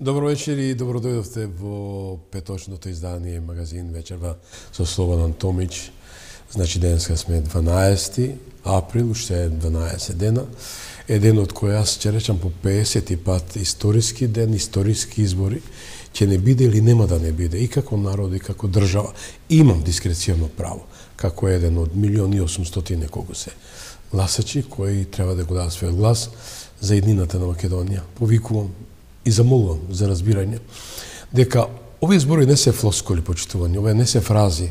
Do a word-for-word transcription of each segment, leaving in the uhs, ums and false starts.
Добро вечер и добро дојдовте во петочното издание магазин Вечерва со Слободан Томич. Значи денеска сме дванаесети април, уште е дванаесет дена. Е ден од кој јас ќе речам по пеесети пат историски ден, историски избори, ќе не биде или нема да не биде, и како народ, и како држава. Имам дискреционно право, како еден од милион и осумстотини неколку се гласачи кои треба да го дадат својот глас за еднината на Македонија. Повикувам и замолувам за разбирање дека овие збори не се флоскули, почитување, овие не се фрази,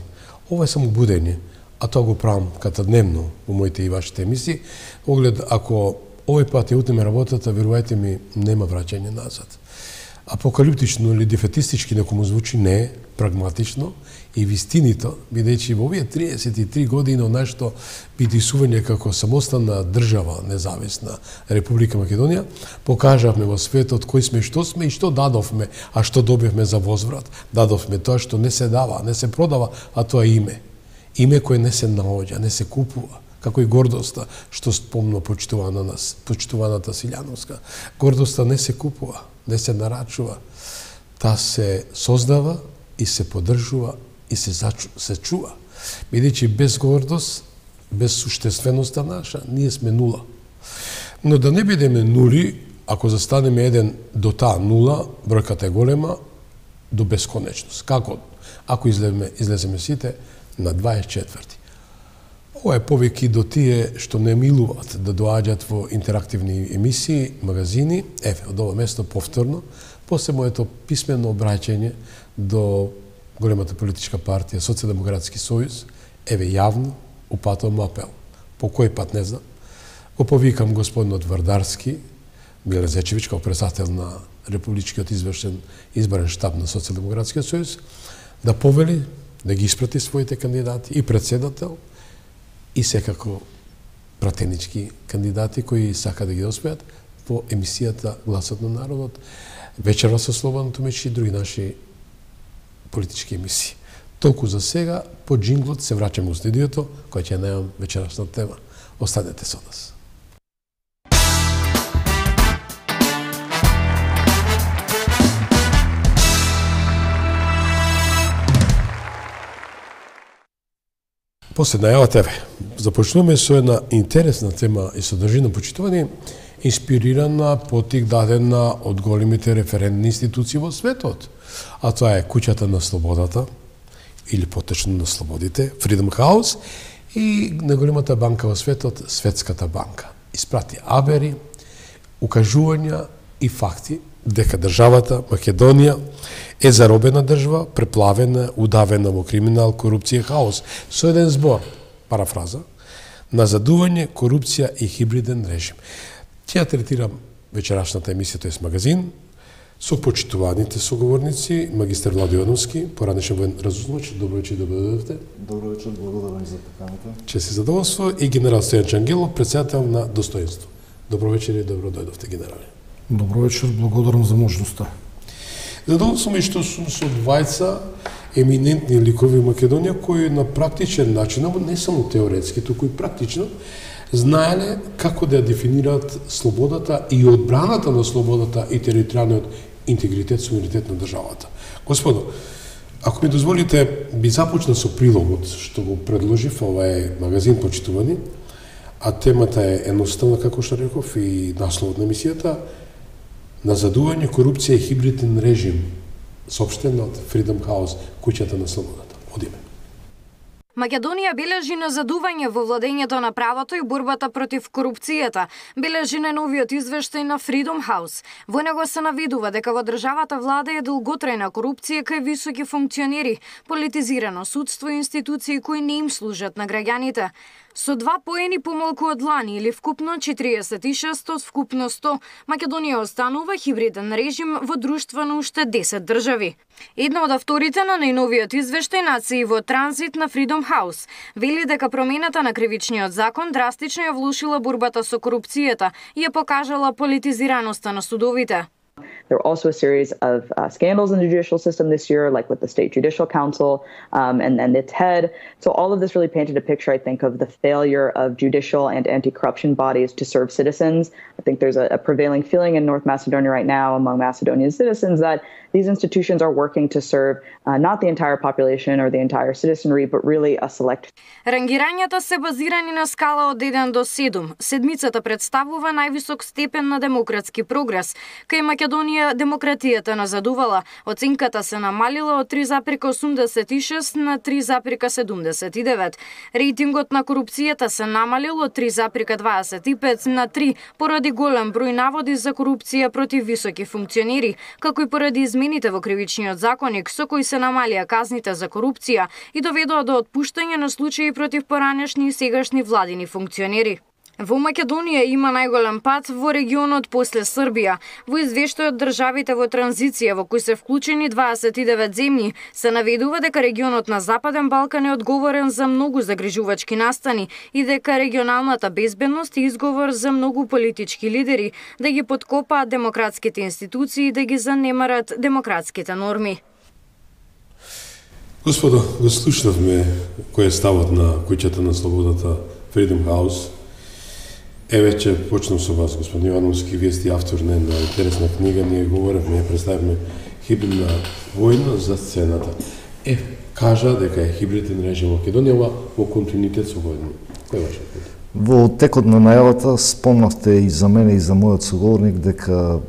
ова е само будење, а тоа го правам катадневно во моите и вашите емисии. Оглед, ако овој пат ја утнеме работата, верувајте ми, нема враќање назад. Апокалиптично или дефетистички некому звучи, не е прагматично и вистинито, бидејќи во овие триесет и три години од нашето бидисување како самостојна држава, независна Република Македонија, покажавме во светот кои сме, што сме и што дадовме, а што добивме за возврат. Дадовме тоа што не се дава, не се продава, а тоа е име. Име кое не се наоѓа, не се купува, како и гордоста, што спомно почитувана нас, почитуваната Силјановска. Гордоста не се купува, не се нарачува, таа се создава и се поддржува и се, зачу, се чува. Бидејќи без гордост, без суштественоста наша, ние сме нула. Но да не бидеме нули, ако застанеме еден до таа нула, бројката е голема, до бесконечност. Како? Ако излеземе, излеземе сите на дваесет четврти. Ова е повеќе до тие што не милуваат да доаѓат во интерактивни емисии, магазини. Еве, од ова место повторно, после моето писмено обраќање до големата политичка партија Социјалдемократски сојуз, еве јавно упатувам апел. По кој пат не знам. Го повикам господинот Вардарски, Миле Зечевич, како председател на Републичкиот извршен изборен штаб на Социјалдемократскиот сојуз, да повели да ги испрати своите кандидати и председател, и секако пратенички кандидати кои сака да ги доспеат по емисијата Гласот на народот, Вечерва со Слободан Томич и други наши политички емисии. Толку за сега, по джинглот се враќаме во студиото, кој ќе најавам вечерашна тема. Останете со нас. После најавата, еве, започнуваме со една интересна тема и содржина почитување, инспирирана, потик дадена од големите референтни институции во светот. А тоа е Куќата на слободата, или поточно на слободите, Freedom House, и на големата банка во светот, Светската банка. Испрати абери, укажувања и факти дека државата Македонија е заробена држава, преплавена, удавена во криминал, корупција и хаос. Со еден збор, парафраза, назадување, корупција и хибриден режим. Ќе ја третирам вечерашната емисија, тоест магазин, со почитуваните соговорници, магистар Влади Јовановски, поранешен воен разузнавач. Добро вечер, добро дојдовте. Добро вечер, благодарам за поканата. Чест и задоволство, и генерал Стојан Чангелов, председател на Достоинство. Добро вечер и добро дојдовте, генерале. Добро вечер, благодарам за можноста. Задоволство ми што сум со двајца еминентни ликови во Македонија кои на практичен начин, не само теоретски, туку и практично, знаеле како да ја дефинираат слободата и одбраната на слободата и територијалниот интегритет, суверенитет на државата. Господо, ако ми дозволите, би започнал со прилогот што го предложив, ова е магазин почитувани, а темата е едноставна, како што реков, и насловот на емисијата, назадување, корупција и хибриден режим, соопштен од Freedom House, Куќата на слободата. Одиме. Македонија бележи назадување во владењето на правото и борбата против корупцијата, бележи најновиот извештај на Freedom House. Во него се навидува дека во државата владее долготрајна корупција кај високи функционери, политизирано судство и институции кои не им служат на граѓаните. Со два поени помалку од лани или вкупно четириесет и шест од вкупно сто, Македонија останува хибриден режим во друштво на уште десет држави. Една од авторите на најновиот извештај нации во транзит на Freedom House вели дека промената на кривичниот закон драстично ја влушила борбата со корупцијата и ја покажала политизираноста на судовите. There were also a series of uh, scandals in the judicial system this year, like with the State Judicial Council um, and, and its head. So all of this really painted a picture, I think, of the failure of judicial and anti-corruption bodies to serve citizens. I think there's a, a prevailing feeling in North Macedonia right now among Macedonian citizens that these institutions are working to serve uh, not the entire population or the entire citizenry, but really a select. Рангирањата се базирани на скала од еден до седум. Седмицата представува највисок степен на демократски прогрес. Кај Македонија демократијата назадувала, оценката се намалила од три запирка осумдесет и шест на три запирка седумдесет и девет. Рейтингот на корупцијата се намалил од три запирка дваесет и пет на три поради голем број наводи за корупција против високи функционери, како и поради измените во кривичниот законник со кои се намалија казните за корупција и доведоа до отпуштање на случаи против поранешни и сегашни владини функционери. Во Македонија има најголем пат во регионот после Србија. Во извештајот државите во транзиција во кои се вклучени дваесет и девет земји се наведува дека регионот на Западен Балкан е одговорен за многу загрижувачки настани и дека регионалната безбедност е изговор за многу политички лидери да ги подкопаат демократските институции и да ги занемарат демократските норми. Господо, го слушнавме кој е ставот на куќата на слободата Freedom House. Еве ќе почнам со вас, господин Ивановски, вие сте автор на една интересна книга, ние говоревме, ја представивме хибридна војна за сцената. Е, кажа дека е хибриден режим во Македонија, ова во континуитет со војна. Кој е вашиот пат? Во текот на најавата спомнавте и за мене и за мојот соговорник дека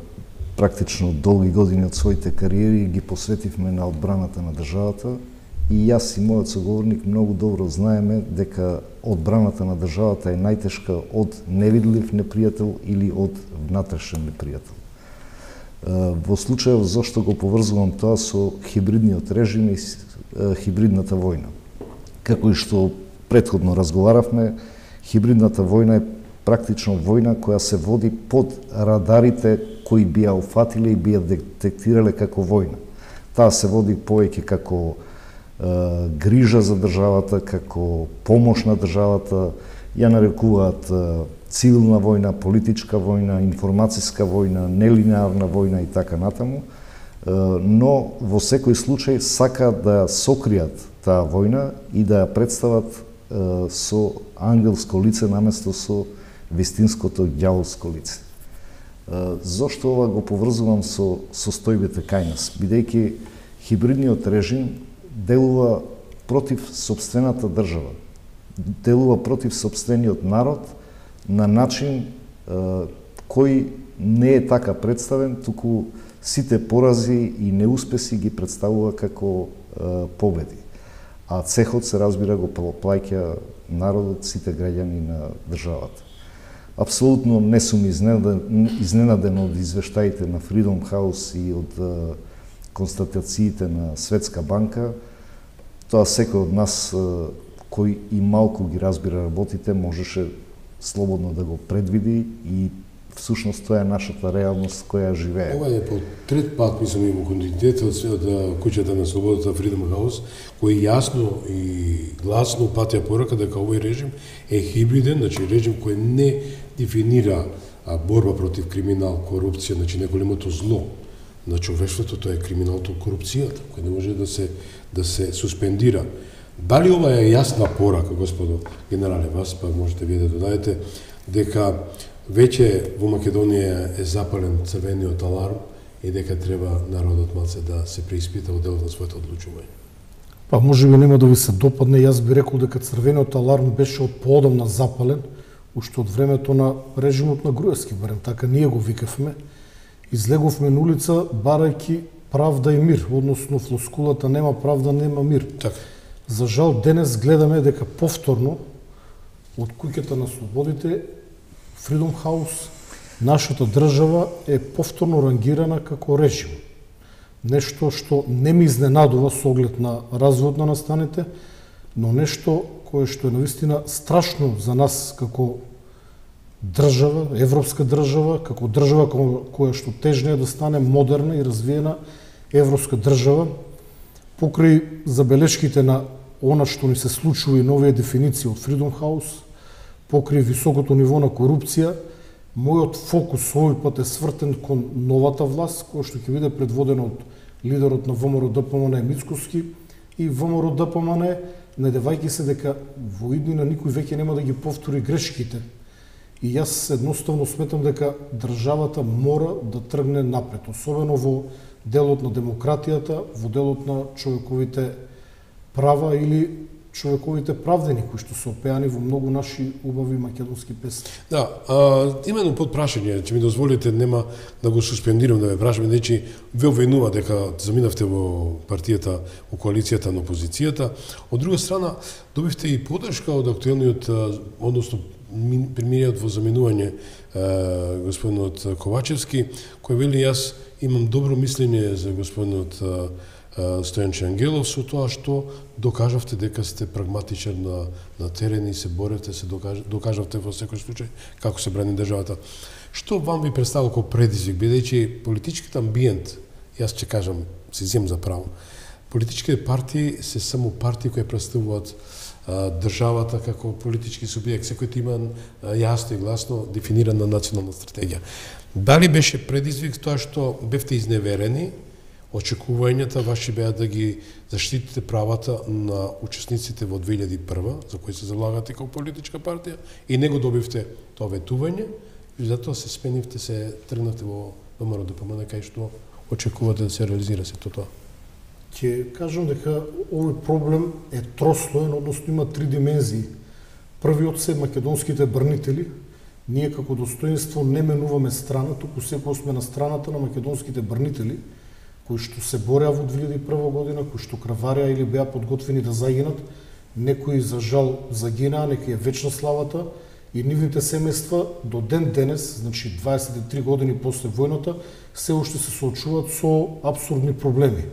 практично долги години од своите кариери ги посветивме на одбраната на државата. И јас и мојот соговорник многу добро знаеме дека одбраната на државата е најтешка од невидлив непријател или од внатрешен непријател. Во случајот зошто го поврзувам тоа со хибридниот режим и хибридната војна. Како и што претходно разговаравме, хибридната војна е практично војна која се води под радарите кои би ја уфатиле и би ја детектирале како војна. Таа се води повеќе како грижа за државата, како помош на државата, ја нарекуваат цивилна војна, политичка војна, информацијска војна, нелинеарна војна и така натаму, но во секој случај сакаат да сокријат таа војна и да ја представат со ангелско лице наместо со вистинското ѓаволско лице. Зошто ова го поврзувам со состојбите кај нас? Бидејќи хибридниот режим делува против сопствената држава, делува против сопствениот народ на начин е, кој не е така представен, туку сите порази и неуспеси ги представува како е, победи. А цехот се разбира го плаќа народот, сите граѓани на државата. Апсолутно не сум изненаден, изненаден од извештаите на Freedom House и од е, констатациите на Светска банка. Тоа секој од нас кој и малку ги разбира работите можеше слободно да го предвиди и всушност тоа е нашата реалност која живее. Ова е по трет пат, мислам, има континуитет од куќата на слободата Freedom House, кој јасно и гласно упатија порака дека овој режим е хибриден, значи режим кој не дефинира борба против криминал, корупција, значи неголемото зло на човештвото, тоа е криминалото, корупцијата, кој не може да се да се суспендира. Дали ова е јасна порака, господо генерале, вас па можете вие да додадете дека веќе во Македонија е запален црвениот аларм и дека треба народот малце да се преиспита во делот на своето одлучување? Па може би нема да ви се допадне, јас би рекол дека црвениот аларм беше од поодамна запален, уште од времето на режимот на Груевски, барем така ние го викавме. Излеговме на улица барајќи правда и мир, односно флоскулата нема правда, нема мир. Така. За жал денес гледаме дека повторно од куќата на слободите Freedom House нашата држава е повторно рангирана како режим. Нешто што не ми изненадува со оглед на развојот на настаните, но нешто кое што е навистина страшно за нас како држава, европска држава, како држава која што тежне да стане модерна и развиена европска држава, покрај забелешките на она што ни се случува и новите дефиниции од Freedom House, покрај високото ниво на корупција, мојот фокус овој пат е свртен кон новата власт, која што ќе биде предводена од лидерот на ВМРО Д П М Н Мицкоски и ВМРО Д П М Н, надевајќи се дека во иднина никој веќе нема да ги повтори грешките. И јас едноставно сметам дека државата мора да тргне напред, особено во делот на демократијата, во делот на човековите права или човековите правдени кои што се опеани во многу наши убави македонски песни. Да, а, именно под прашање, че ми дозволите, нема да го суспендирам, да ме прашаме, значи, ве обвинува дека заминавте во партијата, во коалицијата на опозицијата. Од друга страна, добивте и подршка од актуелниот, односно, премиерот во заминување господинот Ковачевски, кој вели јас имам добро мислење за господинот Стојанче Ангелов со тоа што докажавте дека сте прагматичен на, на терен и се боревте, се докаж, докажавте во секој случај како се брани државата. Што вам ви представува како предизвик, бидејќи политичкиот амбиент, јас ќе кажам, се земам за право, политичките партии се само партии кои представуваат државата како политички субјект, секој има јасно и гласно дефинирана национална стратегија. Дали беше предизвик тоа што бевте изневерени, очекувањата ваши беа да ги заштитите правата на учесниците во две илјади и прва, за кои се залагате како политичка партија, и не го добивте тоа ветување, и затоа се сменивте, се тргнавте во ВМРО Д П М Н, кај што очекувате да се реализира сето тоа. Ќе кажам дека овој проблем е трослоен, односно има три димензии. Првиот се македонските брнители. Ние како достоинство не менуваме страна, туку секој сме на страната на македонските брнители, кои што се бореа во две илјади и прва година, кои што кравареа или беа подготвени да загинат, некои за жал загинаа, некои е вечна славата, и нивните семејства до ден денес, значи дваесет и три години после војната, се уште се соочуваат со апсурдни проблеми.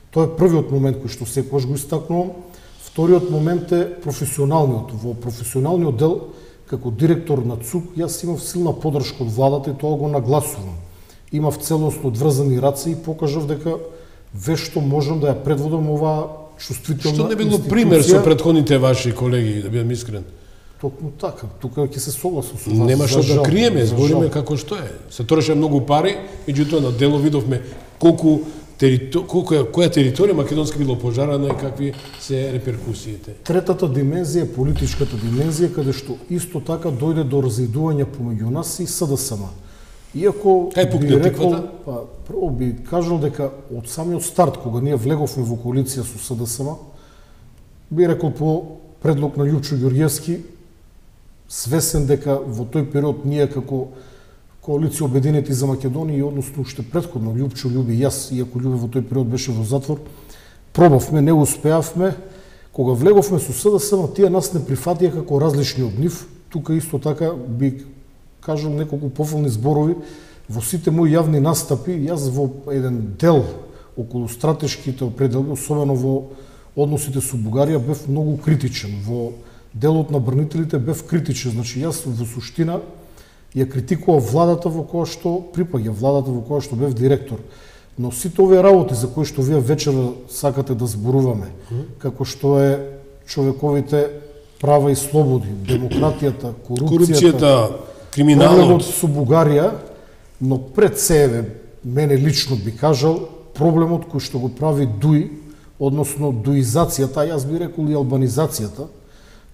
Тоа е првиот момент кој што секогаш го истакнувам. Вториот момент е професионалниот. Во професионалниот дел, како директор на ЦУК, јас имав силна подршка од владата и тоа го нагласувам. Имав целосно одврзани раце и покажав дека вешто можам да ја предводам оваа чувствителна Што не било институција. пример со претходните ваши колеги, да бидам искрен? Токму така, тука ќе се согласам со вас. Нема што да криеме, збориме како што е. Се троши многу пари, меѓутоа на дело видовме колку територ... колку е, која територија македонска било пожарана и какви се реперкусиите. Третата димензија е политичката димензија, каде што исто така дојде до разидување помеѓу нас и С Д С М. Иако Кај пукне би рекол, тиквата? па, прво би кажал дека од самиот старт, кога ние влеговме во коалиција со С Д С М, би рекол по предлог на Љупчо Ѓорѓевски, свесен дека во тој период ние како коалиција Обединети за Македонија и односно уште претходно Љупчо, Љуби и јас, иако Љубе во тој период беше во затвор, пробавме, не успеавме. Кога влеговме со С Д С М, тие нас не прифатија како различни од нив. Тука исто така би кажам неколку пофални зборови во сите мои јавни настапи. Јас во еден дел околу стратешките определби, особено во односите со Бугарија, бев многу критичен. Во делот на брнителите бев критичен. Значи јас во суштина ја критикував владата во која што припаѓа, владата во која што бев директор. Но сите овие работи за кои што вие вечера сакате да зборуваме, како што е човековите права и слободи, демократијата, корупцијата, Корупцијата, криминалот со Бугарија, но пред себе, мене лично би кажал, проблемот кој што го прави ДУИ, односно дуизацијата, јас би рекол и албанизацијата,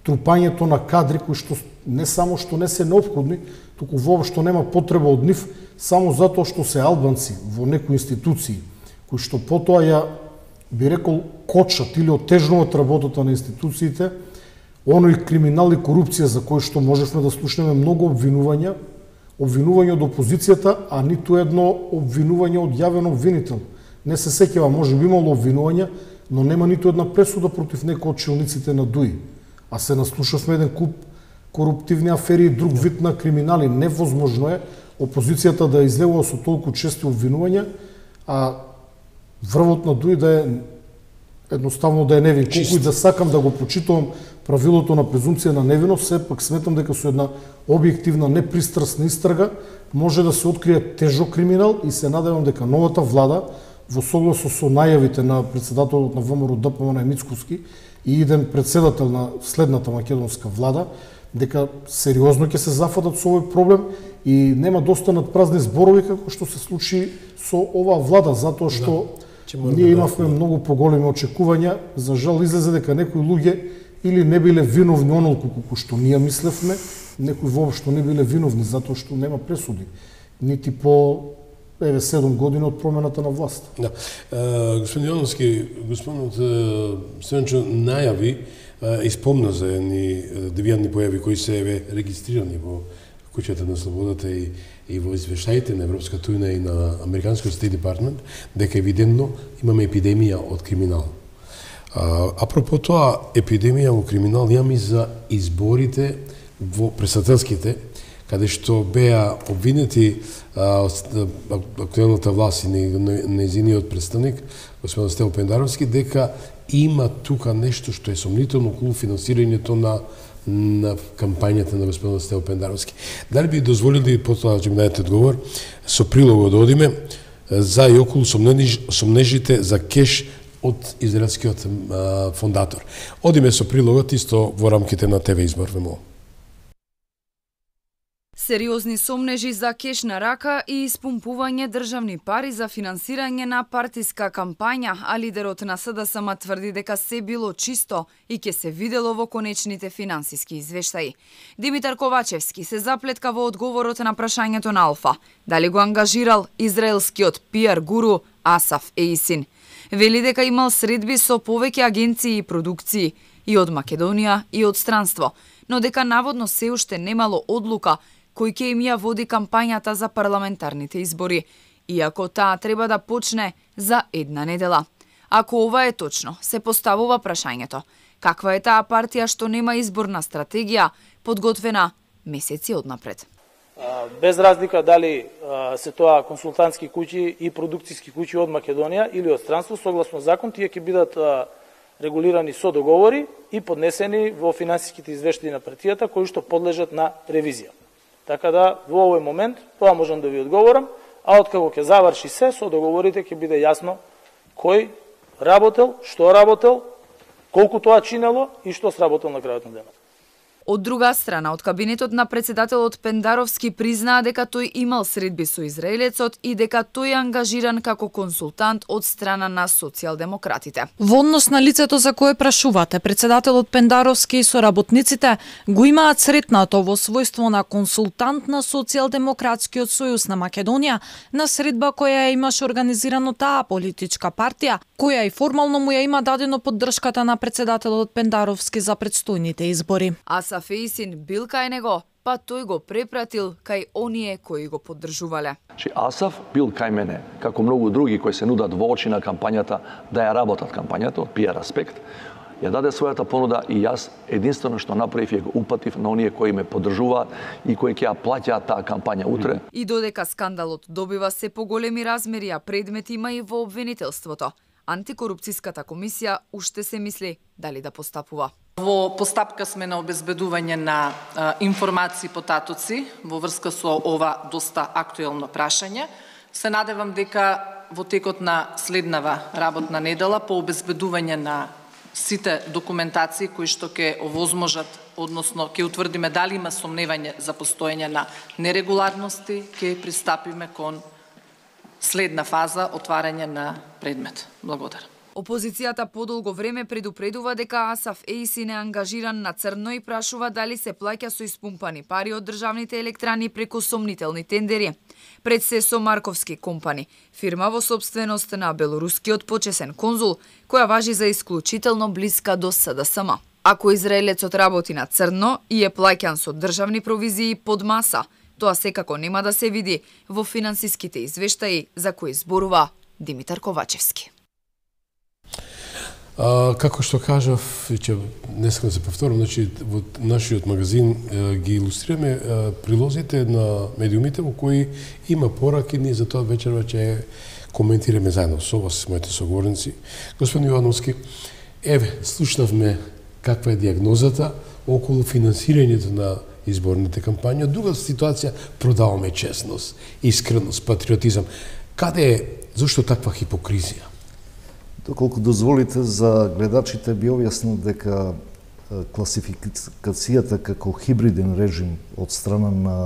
трупањето на кадри кои што не само што не се неопходни, туку воопшто нема потреба од нив, само затоа што се албанци во некои институции, кои што потоа ја, би рекол, кочат или отежнуваат работата на институциите, оној криминал и корупција за кој што можевме да слушнеме многу обвинувања, обвинување од опозицијата, а ниту едно обвинување од јавен обвинител. Не се сеќава, може би имало обвинувања, но нема ниту една пресуда против некој од челниците на ДУИ. А се наслушавме еден куп коруптивни афери и друг вид на криминали. Невозможно е опозицијата да излегува со толку чести обвинувања, а врвот на ДУИ да е едноставно да е невин. Колку и да сакам да го почитувам правилото на презумпција на невиност, сепак сметам дека со една објективна, непристрасна истрага може да се открие тежок криминал и се надевам дека новата влада, во согласно со најавите на председателот на ВМРО Д П М Н Мицкоски и иден председател на следната македонска влада, дека сериозно ќе се зафатат со овој проблем и нема да останат празни зборови како што се случи со оваа влада, затоа што да, ние имавме многу поголеми очекувања. За жал излезе дека некои луѓе или не биле виновни онолку колку што ние мислевме, некои воопшто не биле виновни затоа што нема пресуди, нити по еве седум години од промената на власт. Да. Uh, господин Јовановски, господинот Стојанчо најави uh, и спомна за едни девијантни појави кои се еве регистрирани во Куќата на слободата и, и во извештаите на Европската унија и на Американскиот Стейт Департмент, дека евидентно имаме епидемија од криминал. Uh, апропо тоа, епидемија во криминал имаме за изборите во председателските, каде што беа обвинети актуелната власт и нејзиниот представник, господин Стел Пендаровски, дека има тука нешто што е сомнително околу финансирањето на на кампањата на господин Стел Пендаровски. Дали би дозволили, потоа ќе ми дадете одговор, со прилогот да одиме за и околу сомнежите за кеш од израелскиот а, фондатор. Одиме со прилогот исто во рамките на ТВ Избор, ве молам. Сериозни сомнежи за кеш на рака и испумпување државни пари за финансирање на партиска кампања, а лидерот на СДСМ тврди дека се било чисто и ќе се видело во конечните финансиски извештаи. Димитар Ковачевски се заплетка во одговорот на прашањето на Алфа, дали го ангажирал израелскиот пиар гуру Асаф Еисин. Вели дека имал средби со повеќе агенции и продукции, и од Македонија и од странство, но дека наводно се уште немало одлука кој ќе им ја води кампањата за парламентарните избори, иако таа треба да почне за една недела. Ако ова е точно, се поставува прашањето: каква е таа партија што нема изборна стратегија, подготвена месеци однапред? Без разлика дали се тоа консултантски куќи и продукцијски куќи од Македонија или од странство, согласно закон, тие ќе бидат регулирани со договори и поднесени во финансиските извештаи на партијата кои што подлежат на ревизија. Така да во овој момент тоа можам да ви одговорам, а откако ќе заврши се со договорите ќе биде јасно кој работел, што работел, колку тоа чинело и што сработел на крајот на денот. Од друга страна, од кабинетот на председателот Пендаровски признаа дека тој имал средби со израелецот и дека тој е ангажиран како консултант од страна на социјалдемократите. Во однос на лицето за кое прашувате, председателот Пендаровски и соработниците го имаат сретнато во својство на консултант на Социјалдемократскиот сојуз на Македонија на средба која имаше организирано таа политичка партија, која и формално му ја има дадено поддршката на председателот Пендаровски за предстојните избори. Асаф Еисин бил кај него, па тој го препратил кај оние кои го поддржувале. Че Асаф бил кај мене, како многу други кои се нудат во очи на кампањата да ја работат кампањата од пиар аспект, ја даде својата понуда и јас единствено што направив ја го упатив на оние кои ме поддржуваат и кои ќе ја плаќаат таа кампања утре. И додека скандалот добива се поголеми размери, а предмет има и во обвинителството, Антикорупцијската комисија уште се мисли дали да постапува. Во постапка сме на обезбедување на а, информации потатоци во врска со ова доста актуелно прашање. Се надевам дека во текот на следнава работна недела по обезбедување на сите документации кои што ќе овозможат, односно ќе утврдиме дали има сомневање за постоење на нерегуларности, ќе пристапиме кон следна фаза отварање на предмет. Благодарам. Опозицијата подолго време предупредува дека Асаф Еисин е ангажиран на црно и прашува дали се плаќа со испумпани пари од државните електрани преку сомнителни тендери. Пред се со Марковски компани, фирма во собственост на белорускиот почесен конзул, која важи за исклучително блиска до СДСМ. Ако израелецот работи на црно и е плаќан со државни провизии под маса, тоа секако нема да се види во финансиските извештаи за кои зборува Димитар Ковачевски. А, како што кажав, ќе днеска се повторам, значи во нашиот магазин е, ги илустрираме е, прилозите на медиумите во кои има пораки, ние за тоа вечерва ќе коментираме заедно со вас, моите соговорници. Господин Јовановски, еве, слушнавме каква е диагнозата околу финансирањето на изборните кампањи. Од друга ситуација продаваме честност, искреност, патриотизам. Каде е, зошто таква хипокризија? Доколку дозволите, за гледачите би објаснил дека класификацијата како хибриден режим од страна на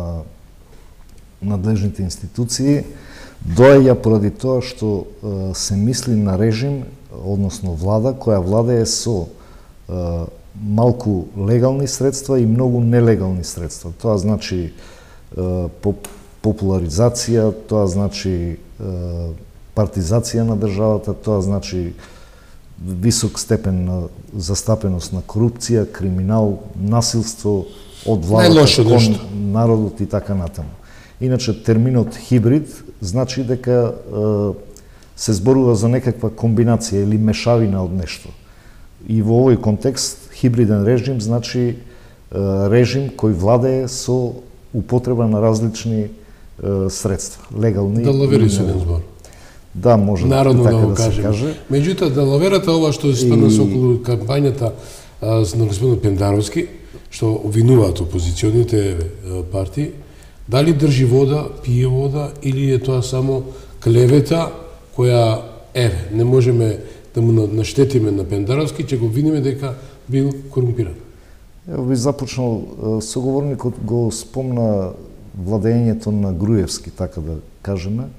надлежните институции доаѓа поради тоа што се мисли на режим, односно влада, која владее со малку легални средства и многу нелегални средства. Тоа значи популаризација, тоа значи партизација на државата, тоа значи висок степен на застапеност на корупција, криминал, насилство од владата кон народот и така натаму. Иначе терминот хибрид значи дека се зборува за некаква комбинација или мешавина од нешто. И во овој контекст хибриден режим значи режим кој владее со употреба на различни средства, легални. Далавери се еден збор. Да, може Народно така да, да, да се каже. Меѓутоа, далаверата ова што се спадна со околу кампањата а, на господин Пендаровски, што обвинуваат опозиционите партии, дали држи вода, пие вода или е тоа само клевета која, еве, не можеме да му наштетиме на Пендаровски, ќе го обвиниме дека бил корумпиран. Ево би започнал, соговорникот го спомна владењето на Груевски, така да кажеме.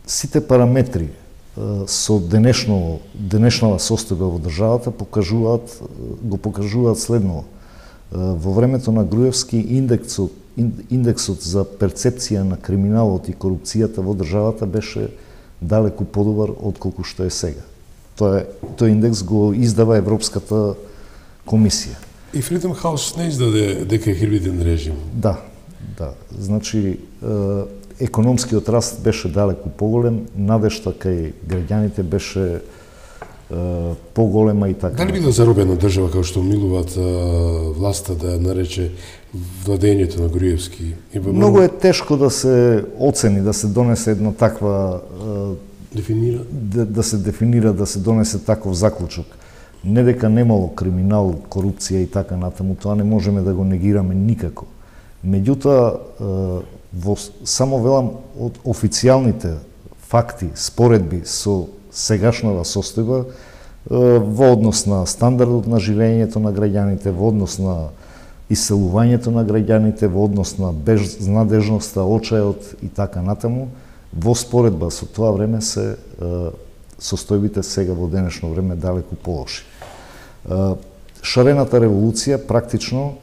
Сите параметри со денешно, денешнава состојба во државата покажуваат, го покажуваат следно. Во времето на Груевски индексот, индексот за перцепција на криминалот и корупцијата во државата беше далеку подобар отколку што е сега. Тоа, тој индекс го издава Европската комисија. И Freedom House не издаде дека е хибриден режим. Да, да. Значи, економскиот раст беше далеку поголем, надежта кај граѓаните беше поголема и така. Дали била заробена држава како што милуваат власта да нарече владењето на Груевски? Многу е тешко да се оцени, да се донесе една таква дефинира да, да се дефинира, да се донесе таков заклучок. Не дека немало криминал, корупција и така натаму, тоа не можеме да го негираме никако. Меѓутоа, во, само велам од официјалните факти, споредби со сегашнава состојба во однос на стандардот на живењето на граѓаните, во однос на иселувањето на граѓаните, во однос на безнадежноста, очајот и така натаму, во споредба со тоа време се состојбите сега во денешно време далеку полоши. Шарената револуција практично,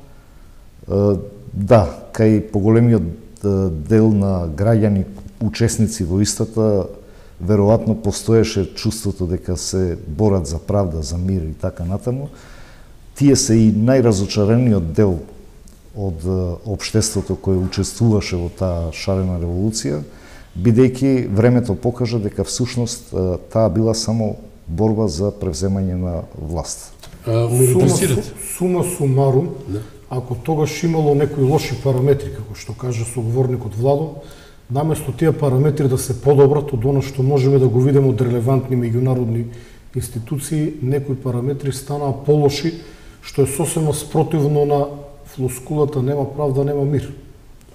да, кај поголемиот дел на граѓани учесници во истата, веројатно постоеше чувството дека се борат за правда, за мир и така натаму. Тие се и најразочарениот дел од општеството кој учествуваше во таа шарена револуција, бидејќи времето покажа дека всушност таа била само борба за превземање на власт. Сума, сума сумарум, да. Ако тогаш имало некои лоши параметри, како што кажа соговорникот Владо, наместо тие параметри да се подобрат од оно што можеме да го видиме од релевантни меѓународни институции, некои параметри станаа полоши, што е сосема спротивно на флоскулата нема правда, нема мир.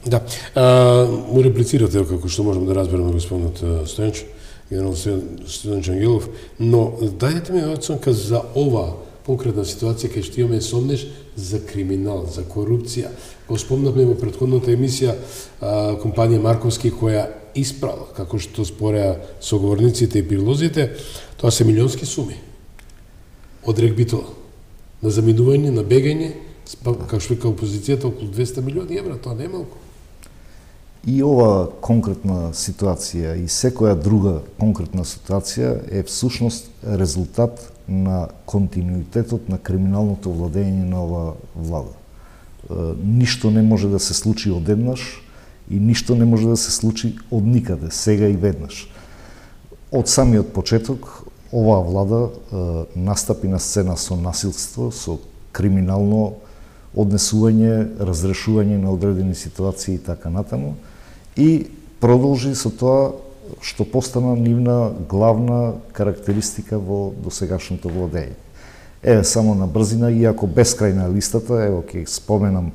Да, а, му реплицирате како што можеме да разбереме господинот Стојанчо, генерал Стојанчо Ангелов, но дајте ми оценка за ова конкретна ситуација кај што имаме сомнеш за криминал, за корупција. Го спомнавме во претходната емисија а, компанија Марковски која испрала, како што спореа соговорниците и прилозите, тоа се милионски суми од регбитола на заминување, на бегање, како што вика опозицијата, околу двесте милиони евра, тоа не е малку. И ова конкретна ситуација и секоја друга конкретна ситуација е всушност резултат на континуитетот на криминалното владење на ова влада. Ништо не може да се случи одеднаш и ништо не може да се случи од никаде, сега и веднаш. Од самиот почеток, оваа влада настапи на сцена со насилство, со криминално однесување, разрешување на одредени ситуации и така натаму, и продолжи со тоа што постана нивна главна карактеристика во досегашното владење. Еве само на брзина, иако бескрајна листата, ево ќе споменам,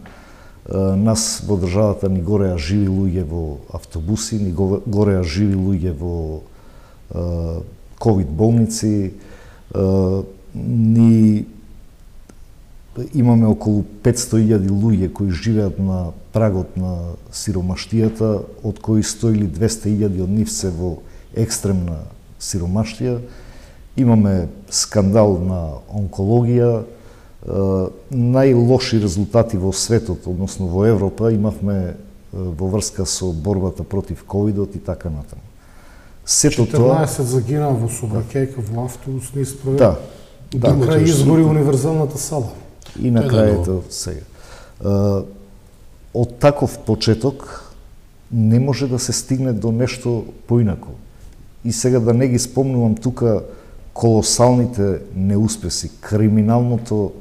нас во државата ни гореа живи луѓе во автобуси, ни гореа живи луѓе во ковид болници, ни имаме околу петсто илјади луѓе кои живеат на прагот на сиромаштијата, од кои сто или двесте илјади од нив се во екстремна сиромаштија. Имаме скандал на онкологија, најлоши резултати во светот, односно во Европа, имавме во врска со борбата против ковидот и така натаму. Сето тоа четрнаесет загинаа во сообраќајка во автобус не исправен. Да. Да, крај изгори универзалната сала. И на крајето сега. Од таков почеток не може да се стигне до нешто поинако. И сега да не ги спомнувам тука колосалните неуспеси, криминалното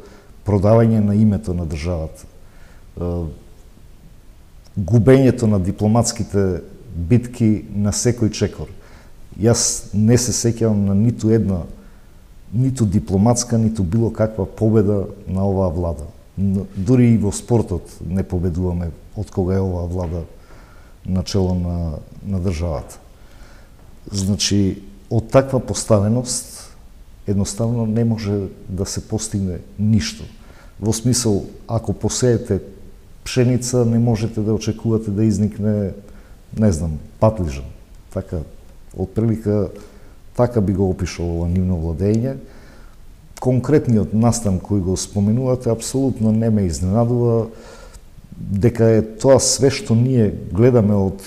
продавање на името на државата, губењето на дипломатските битки на секој чекор. Јас не се сеќавам на ниту една, ниту дипломатска, ниту било каква победа на оваа влада. Дури и во спортот не победуваме од кога е оваа влада начело на, на државата. Значи, од таква поставеност едноставно не може да се постигне ништо. Во смисол, ако посеете пшеница, не можете да очекувате да изникне, не знам, патлижан. Така, отприлика, така би го опишал ова нивно владење. Конкретниот настан кој го споменувате, апсолутно не ме изненадува, дека е тоа све што ние гледаме од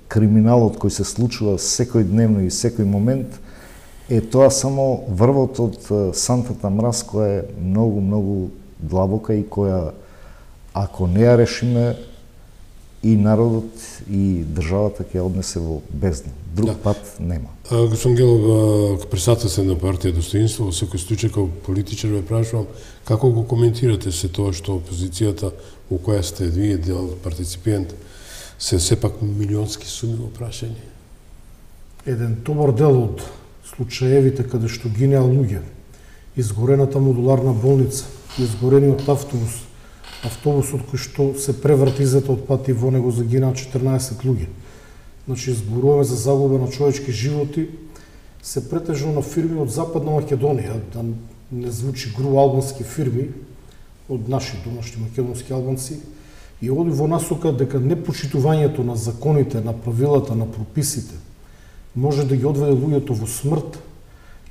криминалот кој се случува секој дневно и секој момент, е тоа само врвот од сантата мраз која е многу, многу длабока и која, ако не ја решиме, и народот и државата ќе однесе во бездна. Друг да. Пат нема. Господин Гелов, председател се на партија Достоинство, во секој случај како политичар ве прашувам, како го коментирате се тоа што опозицијата во која сте вие дел партиципент се сепак милионски суми во прашање? Еден добар дел од случаевите каде што гинеа луѓе, изгорената модуларна болница, изгорениот автобус, автобусот кој што се преврти изета од пат и во него загинаа четрнаесет луѓе. Значи, зборуваме за загуба на човечки животи, се претежно на фирми од Западна Македонија, да не звучи гру албански фирми, од наши домашни македонски албанци, и оди во насока дека непочитувањето на законите, на правилата, на прописите, може да ги одведе луѓето во смрт,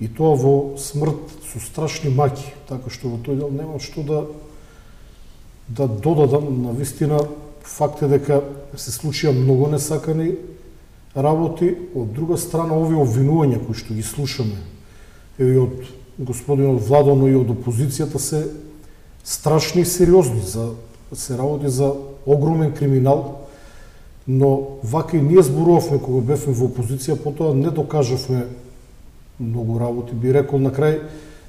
и тоа во смрт со страшни маки, така што во тој дел нема што да да додадам. На вистина, факт е дека се случија многу несакани работи. Од друга страна, овие обвинувања кои што ги слушаме и од господинот Владо, но и од опозицијата, се страшни и сериозни. За, се работи за огромен криминал, но вака и ние зборувавме кога бевме во опозиција, потоа не докажавме многу работи. Би рекол, на крај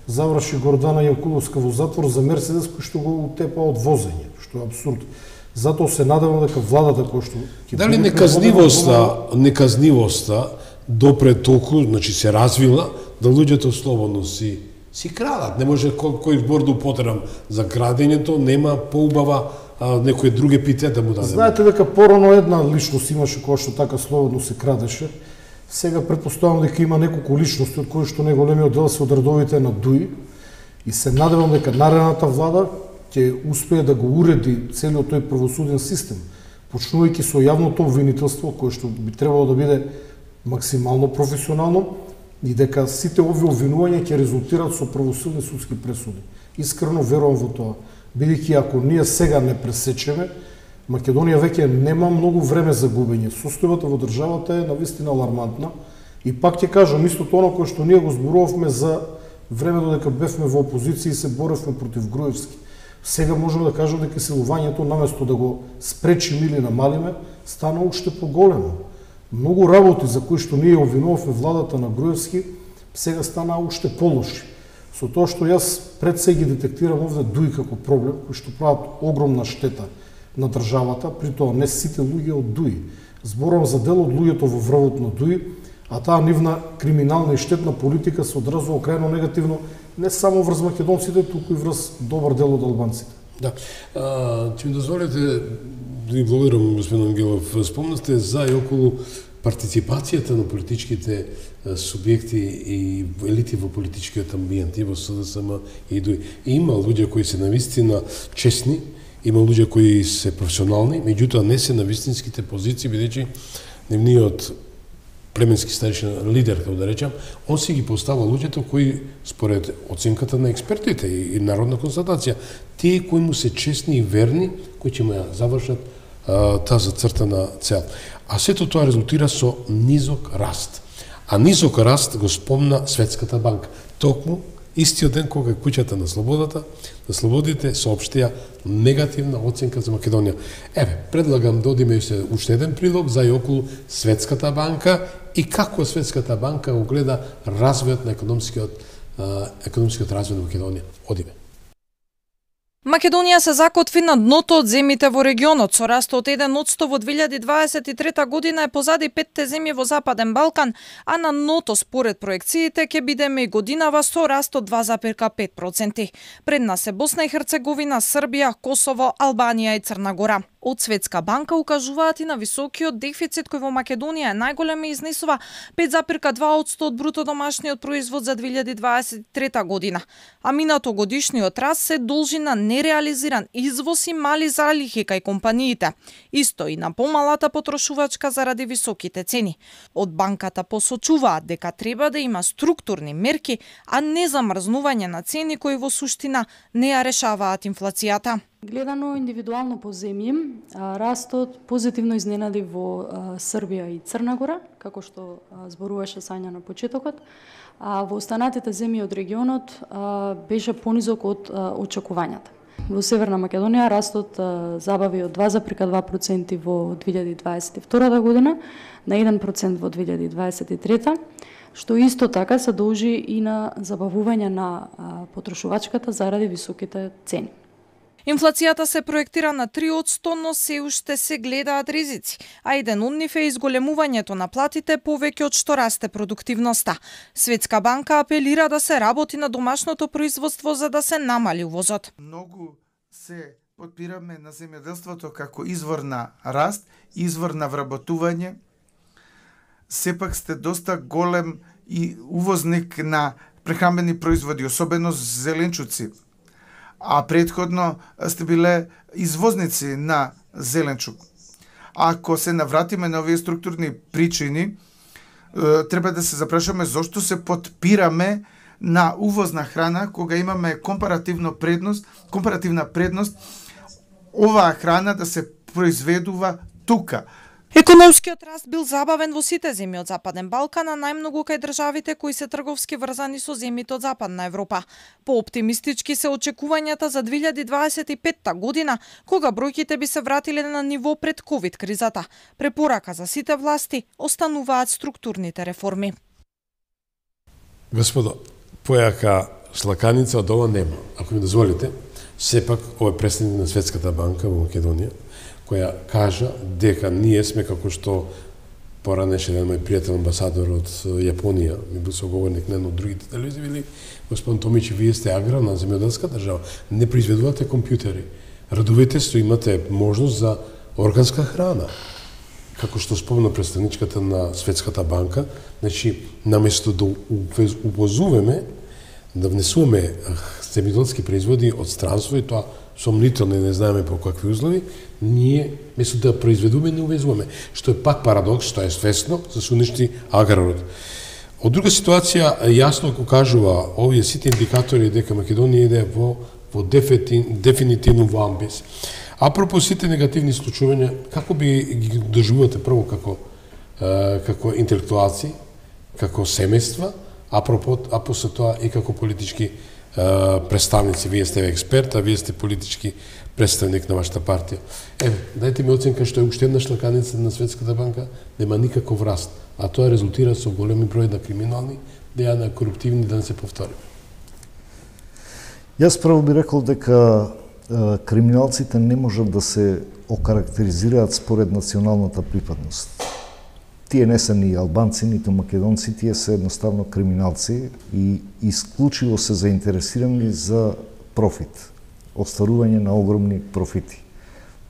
заврши Гордана Јанкуловска во затвор за Мерцедес кој што го утепа од возење, што е абсурд. Затоа се надевам дека владата кој што ќе дали неказнивоста, неказнивоста допре толку, значи се развила да луѓето слободно си си крадат. Не може кој, кој збор да употребам за крадењето, нема поубава а, некои други епитет да му даде. Знаете дека порано една личност имаше која што така слободно се крадеше. Сега претпоставам дека има неколку личности од кои што најголемиот дел се од редовите на ДУИ, и се надевам дека наредната влада ќе успее да го уреди целиот тој правосуден систем, почнувајќи со јавното обвинителство, кое што би требало да биде максимално професионално, и дека сите овие обвинувања ќе резултираат со правосудни судски пресуди. Искрено верувам во тоа, бидејќи ако ние сега не пресечеме, Македонија веќе нема многу време за губење. Состојбата во државата е навистина алармантна, и пак ќе кажам истото оно кое што ние го зборувавме за време додека бевме во опозиција и се боревме против Груевски. Сега можеме да кажем дека силувањето, наместо да го спречиме или намалиме, стана уште поголемо. Многу работи за кои што ние обвинувавме владата на Груевски, сега стана уште полоши. Со тоа што јас пред се ги детектирам овде ДУИ како проблем, кои што прават огромна штета на државата, при тоа не сите луѓе од ДУИ. Зборувам за дел од луѓето во врвот на ДУИ, а таа нивна криминална и штетна политика се одразува крајно негативно не само врз македонците, туку и врз добар дел од албанците. Да. А, ќе ми дозволите да ви благодарам, господин Ангелов. Спомнавте за и околу партиципацијата на политичките субјекти и елити во политичкиот амбиент и во СДСМ и ДУИ. Има луѓе кои се навистина честни, има луѓе кои се професионални, меѓутоа не се на вистинските позиции, бидејќи нивниот племенски старешина лидер, како да речам, он си ги постава луѓето кои според оценката на експертите и народна констатација, тие кои му се честни и верни, кои ќе му ја завршат а, таа зацртана цел. А сето тоа резултира со низок раст. А низок раст го спомна Светската банка. Токму истиот ден кога куќата на слободата, на слободите соопштија негативна оценка за Македонија. Еве, предлагам да одиме се уште еден прилог за и околу Светската банка и како Светската банка го гледа развојот на економскиот економскиот развој на Македонија. Одиме. Македонија се закотви на дното од земјите во регионот, со раст од еден одсто во две илјади дваесет и трета година е позади петте земји во Западен Балкан, а на дното според проекциите ќе бидеме и годинава со раст од два запир пет проценти. Пред нас е Босна и Херцеговина, Србија, Косово, Албанија и Црна Гора. Од Светска банка укажуваат и на високиот дефицит кој во Македонија е најголем и изнесува пет запир два одсто од бруто домашниот производ за две илјади дваесет и трета година. А минато годишниот раст се должи на нереализиран извоз и мали залихи кај компаниите. Исто и на помалата потрошувачка заради високите цени. Од банката посочуваат дека треба да има структурни мерки, а не замрзнување на цени кои во суштина не ја решаваат инфлацијата. Гледано индивидуално по земји, растот позитивно изненади во Србија и Црна Гора, како што зборуваше Сања на почетокот, а во останатите земји од регионот беше понизок од очекувањата. Во Северна Македонија растот забави од два запир два проценти во две илјади дваесет и втора година на еден процент во две илјади дваесет и трета, што исто така се должи и на забавување на потрошувачката заради високите цени. Инфлацијата се проектира на три одсто, но се уште се гледаат ризици, а еден од нив е изголемувањето на платите повеќе од што расте продуктивноста. Светска банка апелира да се работи на домашното производство за да се намали увозот. Многу се подпираме на земјоделството како извор на раст, извор на вработување. Сепак сте доста голем и увозник на прехранбени производи, особено зеленчуци. А предходно сте биле извозници на зеленчук. Ако се навратиме на овие структурни причини, треба да се запрашаме зошто се подпираме на увозна храна кога имаме компаративно предност, компаративна предност оваа храна да се произведува тука. Економскиот раст бил забавен во сите земји од Западен Балкан, а најмногу кај државите кои се трговски врзани со земјите од Западна Европа. Пооптимистички се очекувањата за две илјади дваесет и петта година, кога бројките би се вратиле на ниво пред ковид кризата. Препорака за сите власти остануваат структурните реформи. Господо, појака шлаканица од ова нема. Ако ми дозволите, сепак ова е представник на Светската банка во Македонија, која кажа дека ние сме како што поранеше еден мој пријател амбасадор од Јапонија, ми бил соговорник на едно од другите телевизии, вели, господин Томич, вие сте аграрна земјоделска држава, не произведувате компјутери, радувате се, имате можност за органска храна. Како што спомна представничката на Светската банка, значи, наместо да увозуваме, да внесуваме земјоделски производи од странство и тоа сомнително не знаеме по какви услови, ние место да произведуваме не увезуваме, што е пак парадокс, што е свесно за се уништи аграрот. Од друга ситуација јасно го кажува овие сите индикатори дека Македонија иде во во дефинитивно во амбис. Апропо сите негативни случувања, како би ги доживувате прво како како интелектуалци, како семејства, апропо а после тоа и како политички представници, вие сте експерт, а вие сте политички представник на вашата партија. Еве, дајте ми оценка што е уште една шлаканица на Светската банка, нема никаков раст, а тоа резултира со големи број на криминални дејана, коруптивни, да не се повтори. Јас прво би рекол дека е, криминалците не можат да се окарактеризираат според националната припадност. Тие не се ни албанци, ниту македонци, тие се едноставно криминалци и исклучиво се заинтересирани за профит, остварување на огромни профити.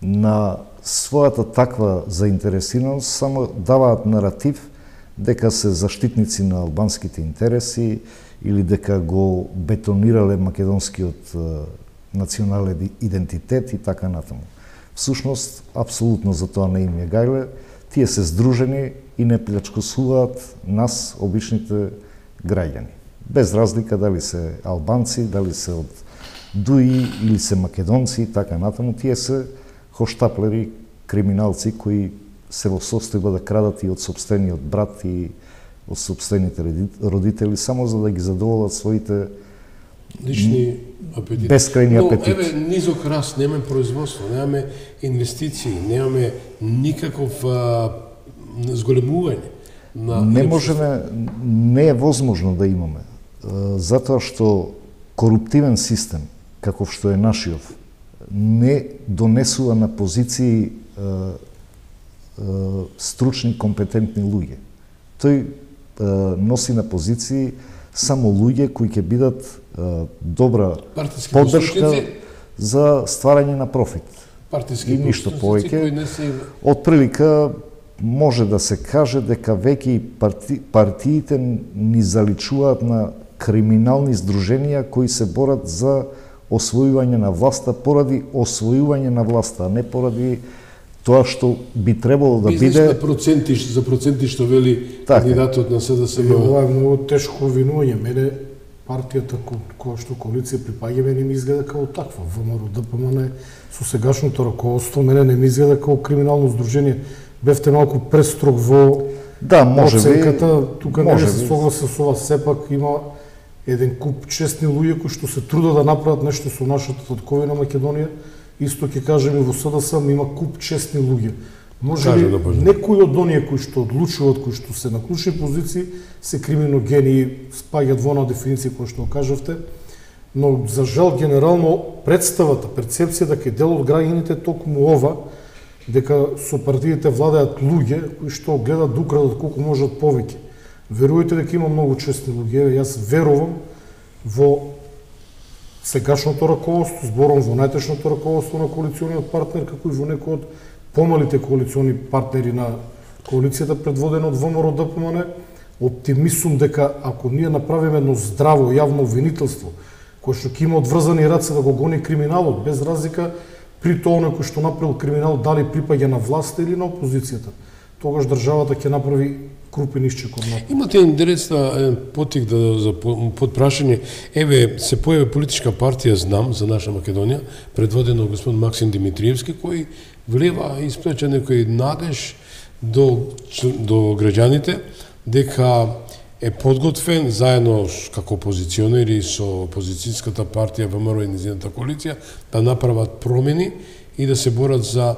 На својата таква заинтересираност само даваат наратив дека се заштитници на албанските интереси или дека го бетонирале македонскиот национален идентитет и така натаму. Всушност, апсолутно за тоа не им е гајле, тие се здружени и не плячкосуваат нас, обичните граѓани. Без разлика дали се албанци, дали се од Дуи или се македонци и така натаму, тие се хоштаплери, криминалци кои се во состојба да крадат и од собствениот брат и од собствените родители, само за да ги задоволат своите лични апетити. Бескрајни апетити. Но, еве, низок раст, немаме производство, немаме инвестиции, немаме никаков а, зголемување. На не можеме, не е возможно да имаме, затоа што коруптивен систем, каков што е нашиот, не донесува на позиции стручни, компетентни луѓе. Тој носи на позиции само луѓе кои ќе бидат добра поддршка за стварање на профит. Партиски и ништо повеќе. Од прилика може да се каже дека веќе и парти, партиите ни заличуваат на криминални здруженија кои се борат за освојување на власта поради освојување на власта, а не поради тоа што би требало да бизнес биде на проценти, за проценти што вели така. Кандидатот на СДСМ. Ова е многу тешко обвинување. Мене партијата која што коалиција припаѓа не ми изгледа како таква. ВМРО ДПМН со сегашното раководство мене не ми изгледа како криминално здружение. Бевте малку престрог во да, може оценката. би, Тука не се согласен со ова, сепак има еден куп честни луѓе кои што се трудат да направат нешто со нашата татковина Македонија. Исто ќе кажем и во СДСМ има куп честни луѓе. Може би да некои од оние кои што одлучуваат, кои што се на клучни позиции, се криминогени и спаѓаат во на дефиниција која што кажавте, но за жал генерално представата, перцепцијата кај дел од граѓаните токму ова, дека со партиите владеат луѓе кои што гледат да украдат колку можат повеќе. Верувајте дека има многу честни луѓе, јас верувам во сегашното раководство, зборам во најтешното раководство на коалициониот партнер, како и во некои од помалите коалициони партнери на коалицијата предводена од ВМРО ДПМН. Оптимисум дека ако ние направиме едно здраво јавно обвинителство, кој што ќе има одврзани раце да го гони криминалот, без разлика при тоа некој што направил криминал дали припаѓа на власта или на опозицијата, тогаш државата ќе направи крупен исчек од напред. Имате интересна потик да, за подпрашање. Еве, се појави политичка партија Знам за наша Македонија, предводена од господин Максим Димитриевски, кој влева и исплеча некој надеж до, до граѓаните, дека е подготвен заедно како опозиционери со опозицијската партија ВМРО и низината коалиција да направат промени и да се борат за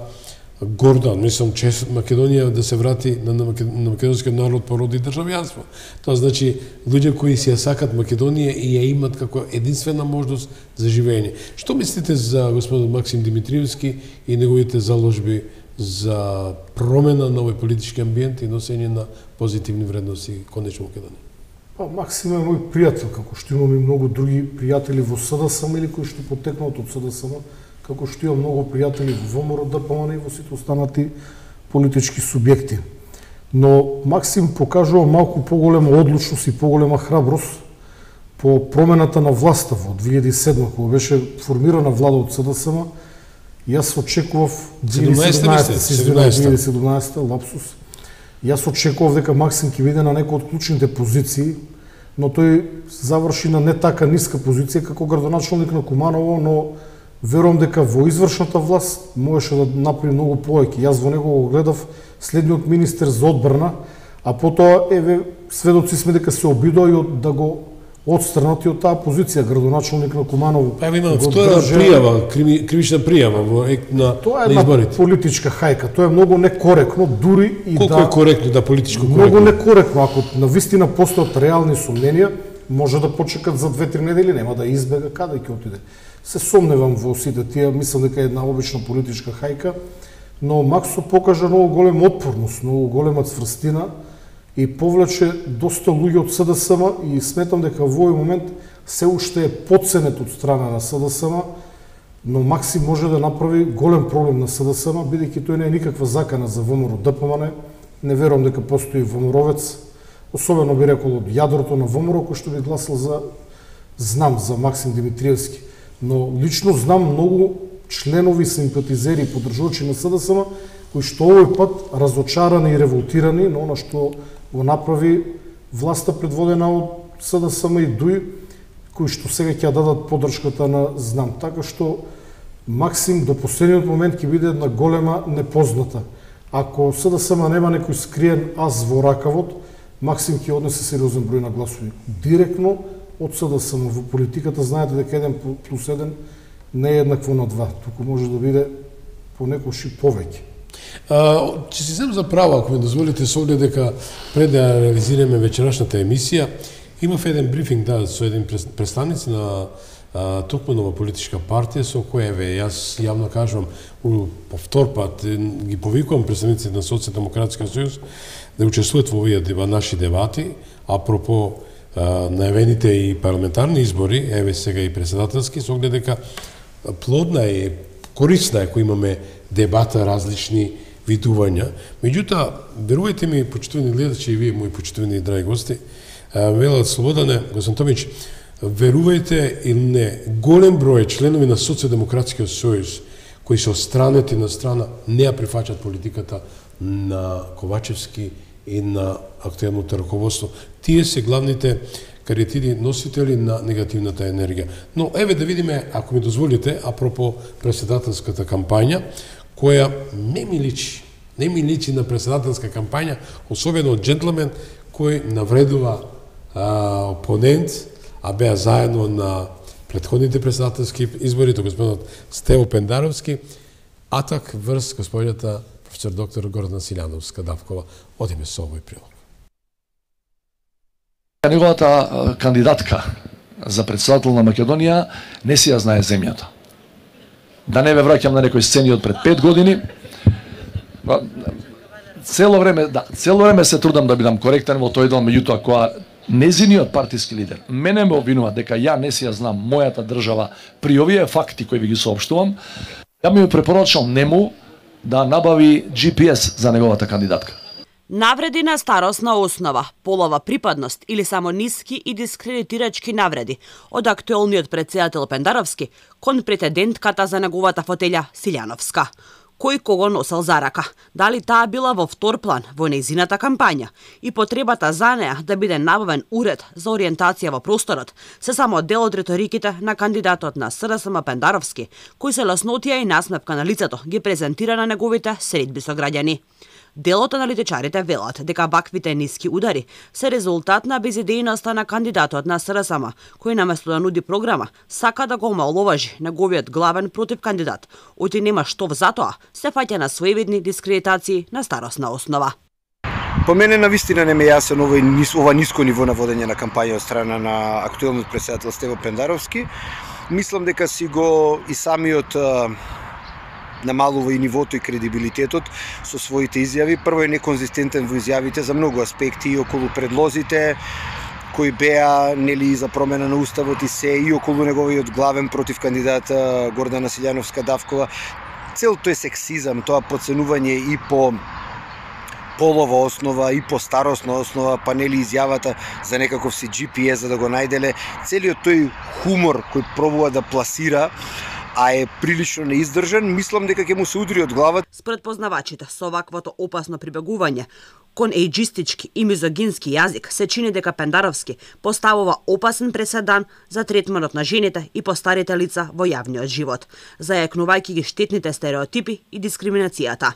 гордан, мислам, чест Македонија да се врати на, на, на македонскиот народ породи државјанство. Тоа значи луѓе кои си ја сакат Македонија и ја имат како единствена можност за живење. Што мислите за господин Максим Димитриевски и неговите заложби за промена на овој политички амбиент и носење на позитивни вредности конечно Македонија? Па Максим е мој пријател, како што имам и многу други пријатели во СДСМ или кои што потекнат од СДСМ, како што имам многу пријатели во ВМРО ДПМН и во сите останати политички субјекти. Но Максим покажува малку поголема одлучност и поголема храброст по промената на власта во две илјади и седма, кога беше формирана влада од СДСМ. Јас очекував две илјади и седумнаесета лапсус. Јас очекував дека Максим ќе биде на некој од клучните позиции, но тој заврши на не така ниска позиција како градоначалник на Куманово, но верувам дека во извршната власт можеше да направи многу повеќе. Јас во него го гледав следниот министер за одбрана, а потоа еве сведоци сме дека се обидоа и да го отстранати од таа позиција градоначалник на Куманово. Па има втора пријава, кривична пријава во ек на изборите. Тоа е една политичка хајка, тоа е многу некоректно, дури и Колку да... Колку е коректно, да политичко коректно? Многу некоректно, ако навистина постојат реални сомненија, може да почекат за две-три недели, нема да избега каде ќе отиде. Се сомневам во сите тие, мислам дека е една обична политичка хајка, но Максо покажа многу голема отпорност, многу голема цврстина и повлече доста луѓе од СДСМ и сметам дека во овој момент се уште е подценет од страна на СДСМ но Максим може да направи голем проблем на СДСМ, бидејќи тој не е никаква закана за ВМРО ДПМН. Не верувам дека постои ВМРО-вец, особено би рекол од јадрото на ВМРО, кој што би гласал за, знам за Максим Димитриевски. Но лично знам многу членови, симпатизери и поддржувачи на СДСМ, кои што овој пат разочарани и револтирани на она што го направи власта предводена од СДСМ и ДУИ, кои што сега ќе дадат поддршката на знам. Така што Максим до последниот момент ќе биде една голема непозната. Ако СДСМ нема некој скриен ас во ракавот, Максим ќе однесе сериозен број на гласови. Директно од СДСМ во политиката знаете дека еден плюс еден не е еднакво на два, туку може да биде понекогаш и повеќе. Ќе си зем за право, ако ми дозволите, со оглед дека пред да реализираме вечерашната емисија, имав еден брифинг да со еден представници на токму нова политичка партија со која еве јас јавно кажувам по втор пат ги повикувам представниците на Социјалдемократскиот сојуз да учествуваат во овие наши дебати апропо најавените и парламентарни избори, еве сега и председателски, со оглед дека плодна е, корисна е кој имаме дебата, различни видувања. Меѓутоа, верувајте ми, почитувани гледачи и вие, мои почитувани драги гости, велат Слободане, господин Томич, верувајте или не, голем број членови на Социјалдемократскиот сојуз кои се одстранети на страна не ја прифаќаат политиката на Ковачевски и на актуелното раководство. Тие се главните кариетиди носители на негативната енергија. Но еве да видиме, ако ми дозволите, апропо председателската кампања, која не ми личи, не ми личи на председателска кампања, особено од джентлмен кој навредува а, опонент, а беа заедно на претходните председателски избори, то господинот Стево Пендаровски, атак врз господината професор доктор Гордана Силјановска-Давкова. Одиме со овој прилог. Неговата кандидатка за председател на Македонија не си ја знае земјата. Да не ве враќам на некои сцени од пред пет години. Цело време, да, цело време се трудам да бидам коректен во тој дел, меѓутоа кога незиниот партиски лидер мене ме обвинува дека ја не си ја знам мојата држава при овие факти кои ви ги соопштувам, ја ми препорачам нему да набави Джи Пи Ес за неговата кандидатка. Навреди на старосна основа, полова припадност или само ниски и дискредитирачки навреди од актуелниот председател Пендаровски кон претендентката за неговата фотелја Силјановска. Кој кого носел за рака, дали таа била во втор план во нејзината кампања и потребата за неа да биде набавен уред за ориентација во просторот, се само дел од риториките на кандидатот на СДСМ Пендаровски, кој се ласнотија и насмевка на лицето ги презентира на неговите средби со граѓани. Делот аналитичарите велат дека ваквите ниски удари се резултат на безидејноста на кандидатот на СДСМ, кој наместо да нуди програма, сака да го омаловажи неговиот главен против кандидат, оти нема што затоа, се фаќа на своевидни дискредитации на старосна основа. По мене навистина не ме јасен ова, ова ниско ниво на водење на кампања од страна на актуелниот председател Стево Пендаровски. Мислам дека си го и самиот намалува и нивото и кредибилитетот со своите изјави. Прво е неконзистентен во изјавите за многу аспекти и околу предлозите кои беа нели за промена на уставот и се и околу неговиот главен против кандидат Гордана Силјановска-Давкова. Целото е сексизам, тоа подценување и по полова основа и по старосна основа, па нели изјавата за некаков си Джи Пи Ес за да го најделе, целиот тој хумор кој пробува да пласира, а е прилично неиздржан, мислам дека ќе му се удри од главата. Според познавачите, со ваквото опасно прибегување кон ејџистички и мизогински јазик се чини дека Пендаровски поставува опасен преседан за третманот на жените и постарите лица во јавниот живот, зајакнувајќи ги штетните стереотипи и дискриминацијата.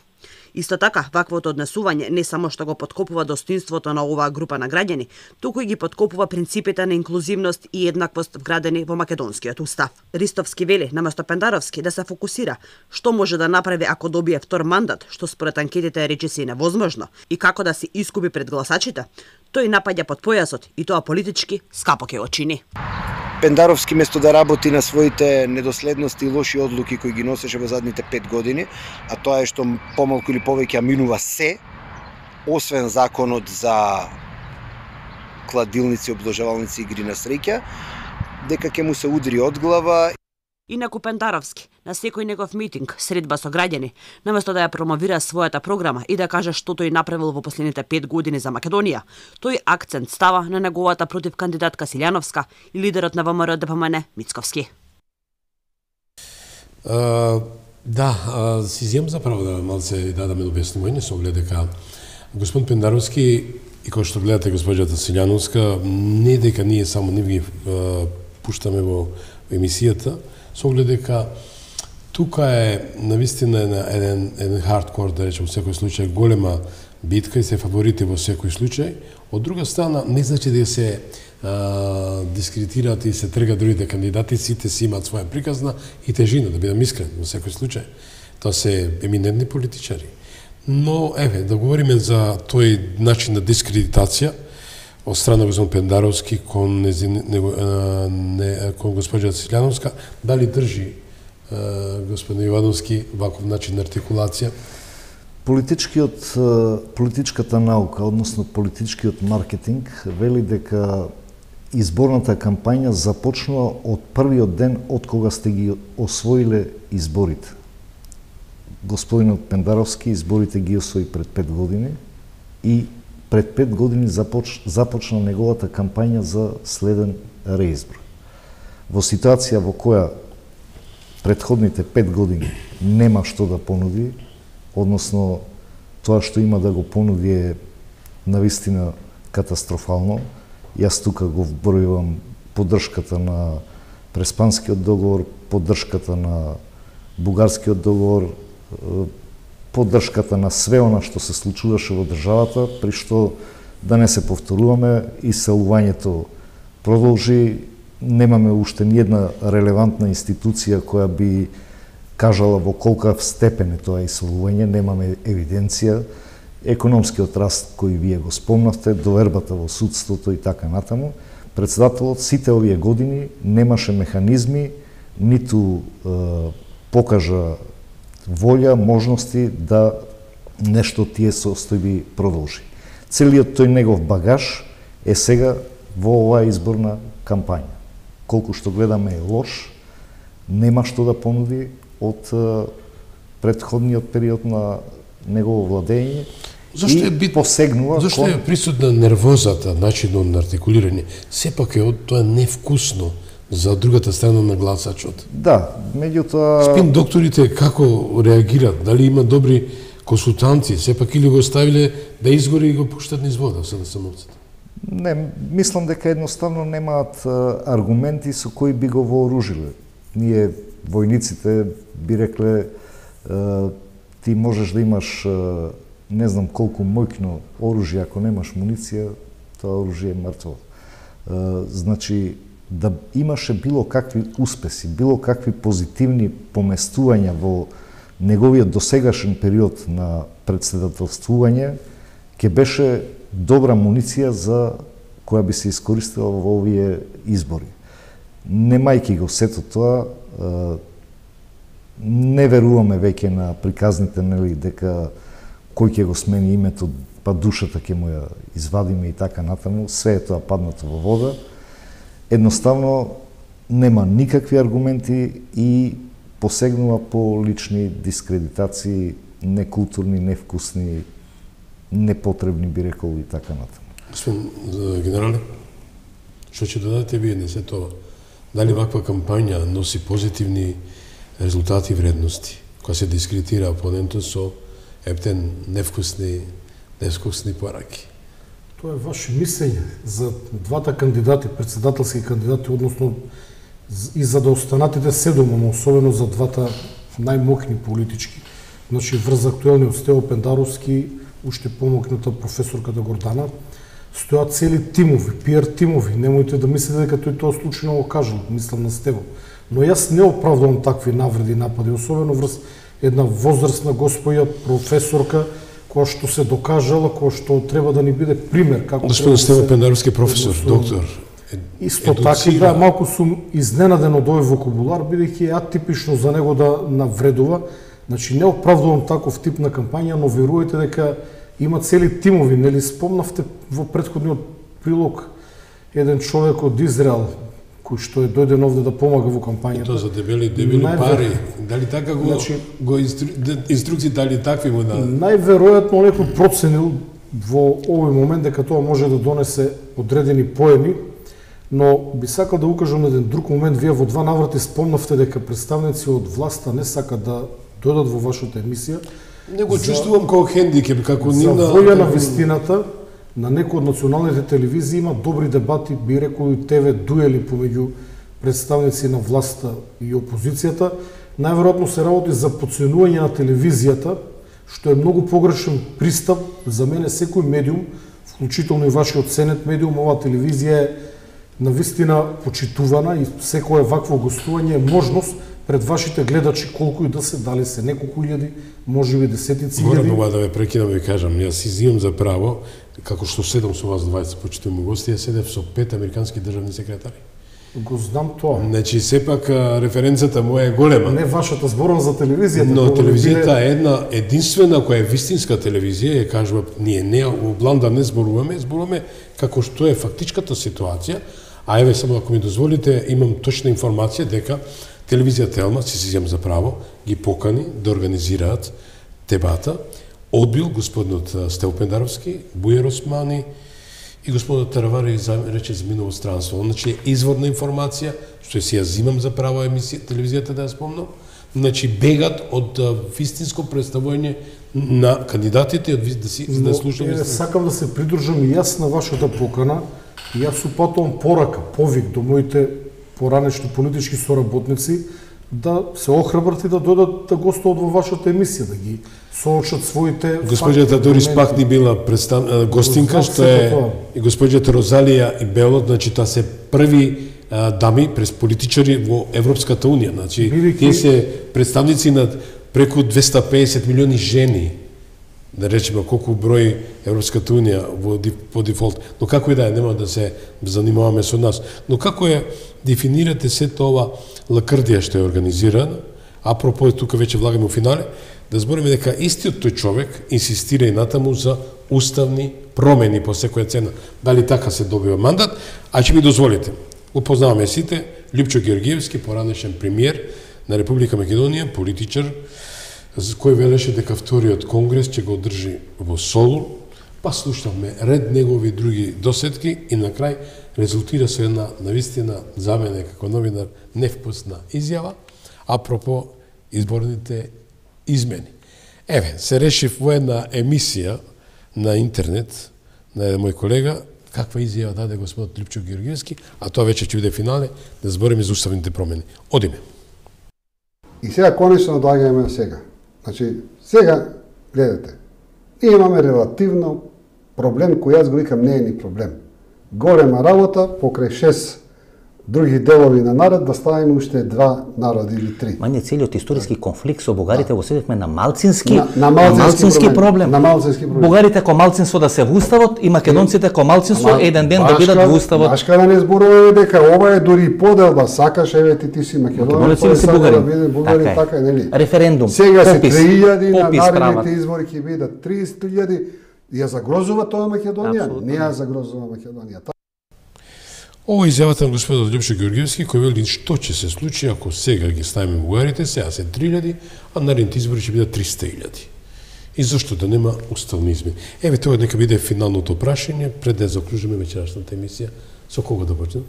Исто така, ваквото однесување не само што го подкопува достоинството на оваа група на граѓани, туку и ги подкопува принципите на инклузивност и еднаквост вградени во македонскиот устав. Ристовски вели, наместо Пендаровски да се фокусира што може да направи ако добие втор мандат, што според анкетите речиси невозможно, и како да се искупи пред гласачите, тој напаѓа под појасот и тоа политички скапо ќе очини. Пендаровски место да работи на своите недоследности и лоши одлуки кои ги носеше во задните пет години, а тоа е што помалку или повеќе минува се, освен законот за кладилници, обложавалници и игри на среќа, дека ќе му се удри од глава. Инаку Пендаровски, на секој негов митинг, средба со граѓани, наместо да ја промовира својата програма и да каже што тој направил во последните пет години за Македонија, тој акцент става на неговата против кандидатка Силјановска и лидерот на ВМРО Д П М Н Мицковски. Uh, да, uh, си земам за право да малце да дадаме објаснување со оглед дека господин Пендаровски и кој што гледате госпоѓата Силјановска, не дека ние само нив ги uh, пуштаме во емисијата, со оглед дека тука е навистина еден, еден хардкор, да речем, во секој случај голема битка и се фаворити во секој случај. Од друга страна, не значи да се а, дискредитираат и се тргат другите кандидати, сите си имаат своја приказна и тежина, да бидам искрен, во секој случај. Тоа се еминентни политичари. Но, еве, да говориме за тој начин на дискредитација од страна господин Пендаровски кон, незин, него, а, не, кон госпоѓа Силјановска, дали држи а, господин Ивановски ваков начин на артикулација? Политичкиот, политичката наука, односно политичкиот маркетинг, вели дека изборната кампања започнува од првиот ден од кога сте ги освоиле изборите. Господинот Пендаровски изборите ги освои пред пет години и пред пет години започ, започна неговата кампања за следен реизбор. Во ситуација во која предходните пет години нема што да понуди, односно тоа што има да го понуди е навистина катастрофално. Јас тука го вбројувам поддршката на Преспанскиот договор, поддршката на Бугарскиот договор, поддршката на све она што се случуваше во државата, при што, да не се повторуваме, иселувањето продолжи, немаме уште ниедна релевантна институција која би кажала во колкав степен е тоа иселување, немаме евиденција, економскиот раст кој вие го спомнавте, довербата во судството и така натаму. Председателот сите овие години немаше механизми, ниту е, покажа волја, можности да нешто тие состојби продолжи. Целиот тој негов багаж е сега во оваа изборна кампања. Колку што гледаме е лош, нема што да понуди од предходниот период на негово владење. Зошто е бит посегнува Зошто кон... е присутна нервозата, начинот на артикулирање? Сепак е од тоа невкусно за другата страна на гласачот. Да, меѓутоа Спин докторите како реагираат? Дали има добри консултанти? Сепак или го оставиле да изгори и го пуштат низ вода со насамовците? Не, мислам дека едноставно немаат аргументи со кои би го вооружиле. Ние, војниците, би рекле, ти можеш да имаш не знам колку мојкно оружје, ако немаш муниција, тоа оружје е мртво. Значи, да имаше било какви успеси, било какви позитивни поместувања во неговиот досегашен период на председателствување, ќе беше добра муниција за која би се искористила во овие избори. Немајки го сето тоа, не веруваме веќе на приказните, нели, дека кој ќе го смени името, па душата ќе му ја извадиме и така натаму, све е тоа паднато во вода. Едноставно нема никакви аргументи и посегнува по лични дискредитации, некултурни, невкусни, непотребни, би рекол, и така натаму. Господин генерале, што ќе додадете вие на се тоа? Дали ваква кампања носи позитивни резултати и вредности, која се дискредитира опонентот со ептен невкусни, невкусни пораки? Тоа е ваше мислење за двата кандидати, председателски кандидати, односно и за да останатите седум, но особено за двата најмокни политички. Значи, врз актуелниот Стево Пендаровски, уште помокната професорката Гордана, стојат цели тимови, пиар тимови. Немојте да мислите дека тој тоа случајно го кажал, мислам на Стево. Но јас не оправдувам такви навреди и напади, особено врз една возрастна господја, професорка, која што се докажала, која што треба да ни биде пример како Господин Стево Пендаровски, професор, доктор. Исто така, да, малку сум изненаден од овој вокабулар, бидејќи е атипично за него да навредува. Значи, не оправдувам таков тип на кампања, но верувајте дека има цели тимови. Нели спомнавте во претходниот прилог еден човек од Израел, кој што е дојден овде да помага во кампањата. И тоа за дебели, дебели Највер... пари. Дали така го, значи, го инстру... инструкции, дали такви му да... Најверојатно некој проценил во овој момент дека тоа може да донесе одредени поени, но би сакал да укажам на еден друг момент. Вие во два наврати спомнавте дека представници од власта не сакат да дојдат во вашата емисија. Не го чувствувам како хендикеп, како за нивна... волја на вистината, на некои од националните телевизии има добри дебати, би рекол и ТВ дуели помеѓу представници на власта и опозицијата. Најверојатно се работи за потценување на телевизијата, што е многу погрешен пристап. За мене секој медиум, вклучително и вашиот Сенет медиум, оваа телевизија е навистина почитувана и секое вакво гостување е можност пред вашите гледачи, колку и да се, дали се неколку илјади, можеби десетици илјади. Морам ова да ве прекинам и кажам, јас си изимам за право, како што седам со вас дваесет почитувани гости, ја седев со пет американски државни секретари. Го знам тоа. Значи, сепак референцата моја е голема. Не вашата зборам за телевизијата. Но телевизијата е една единствена која е вистинска телевизија, ја кажува, ние не во бланда не зборуваме, зборуваме како што е фактичката ситуација. А еве само ако ми дозволите, имам точна информација дека телевизија Телма, си си земам за право, ги покани да организираат дебата. Одбил господинот Стево Пендаровски, Бујар Османи и господинот Таравари рече за минало странство. Значи, изворна информација, што си ја зимам за право емисија, телевизијата да ја спомнам, значи бегат од вистинско представување на кандидатите, од да си да слушаме. Но, сакам да се придружам и јас на вашата покана. Јас упатувам порака, повик до моите поранешни политички соработници да се охрабрат и да дојдат да гостуват во вашата емисија, да ги соочат своите Госпоѓата Дорис пак ни била представ... гостинка, што е и госпоѓата Розалија и Белот, значи таа се први а, дами през политичари во Европската унија, значи Билики... тие се представници на преку двесте и педесет милиони жени, да речеме колку број Европската унија во по дефолт. Но како и да е, нема да се занимаваме со нас. Но како е дефинирате сето ова лакрдија што е организирана, апропо тука веќе влагаме во финале, да збориме дека истиот тој човек инсистира и натаму за уставни промени по секоја цена. Дали така се добива мандат, а ќе ми дозволите. Упознаваме сите Лјупчо Георгиевски, поранешен премиер на Република Македонија, политичар, кој велеше дека вториот конгрес ќе го одржи во Солун, па слушавме ред негови други досетки и на крај резултира со една навистина за мене како новинар невкусна изјава апропо изборните измени. Еве, се решив во една емисија на интернет на еден мој колега каква изјава даде господот Лјупчо Георгиевски, а тоа веќе ќе биде финале да збориме за уставните промени. Одиме. И сега конечно доаѓаме сега. Значи, сега, гледате, ние имаме релативно проблем кој јас го викам не е ни проблем. Голема работа покрај шест други делови на народ да ставиме уште два народи или три. Ма не целиот историски конфликт со бугарите го седевме на малцински, на, на малцински, малцински проблем. проблем. На малцински проблем. Бугарите ко малцинство да се во уставот и македонците ко малцинство Ама, еден ден башка, да бидат во уставот. Башка да не зборуваме дека ова е дури поделба, сакаш еве ти ти си македонец, ти си бугарин. Да биде бугарин, така, така нели? Референдум, сега попис, се три илјади, на наредните прават. избори ќе бидат триесет илјади. Ја загрозува тоа Македонија? Абсолютно. Не ја загрозува Македонија. Ова изјавата на господот Лјупчо Георгиевски, кој вели што ќе се случи ако сега ги ставиме бугарите, сега се три илјади, а наредните избори ќе бидат триста илјади. И зашто да нема уставни измени? Еве тоа нека биде финалното прашање пред да заклучиме вечерашната емисија. Со кого да почнем?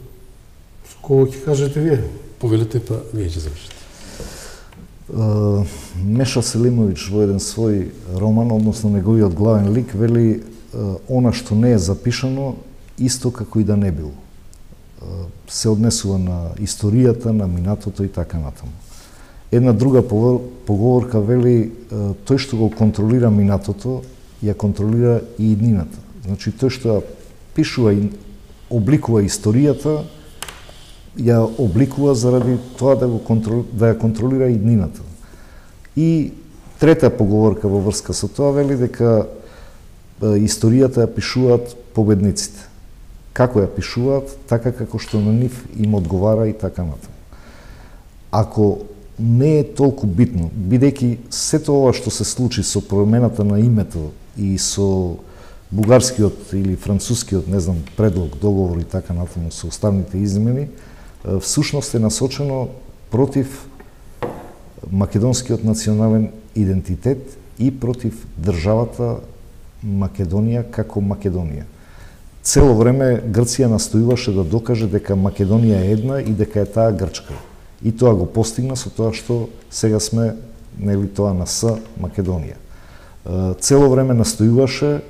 Со кого ќе кажете вие? Повелете, па вие ќе завршите. Uh, Меша Селимович во еден свој роман, односно неговиот главен лик, вели uh, она што не е запишано, исто како и да не било. Uh, се однесува на историјата, на минатото и така натаму. Една друга поговорка вели uh, тој што го контролира минатото, ја контролира и иднината. Значи тој што пишува и обликува историјата, ја обликува заради тоа да, го контрол, да ја контролира иднината. И трета поговорка во врска со тоа вели дека е, историјата ја пишуваат победниците. Како ја пишуваат, така како што на нив им одговара и така натаму. Ако не е толку битно, бидејќи сето ова што се случи со промената на името и со бугарскиот или францускиот, не знам, предлог, договор и така натаму со уставните измени, всушност е насочено против македонскиот национален идентитет и против државата Македонија како Македонија. Цело време Грција настојуваше да докаже дека Македонија е една и дека е таа Грчка. И тоа го постигна со тоа што сега сме, нели, тоа на С Македонија. Цело време настојуваше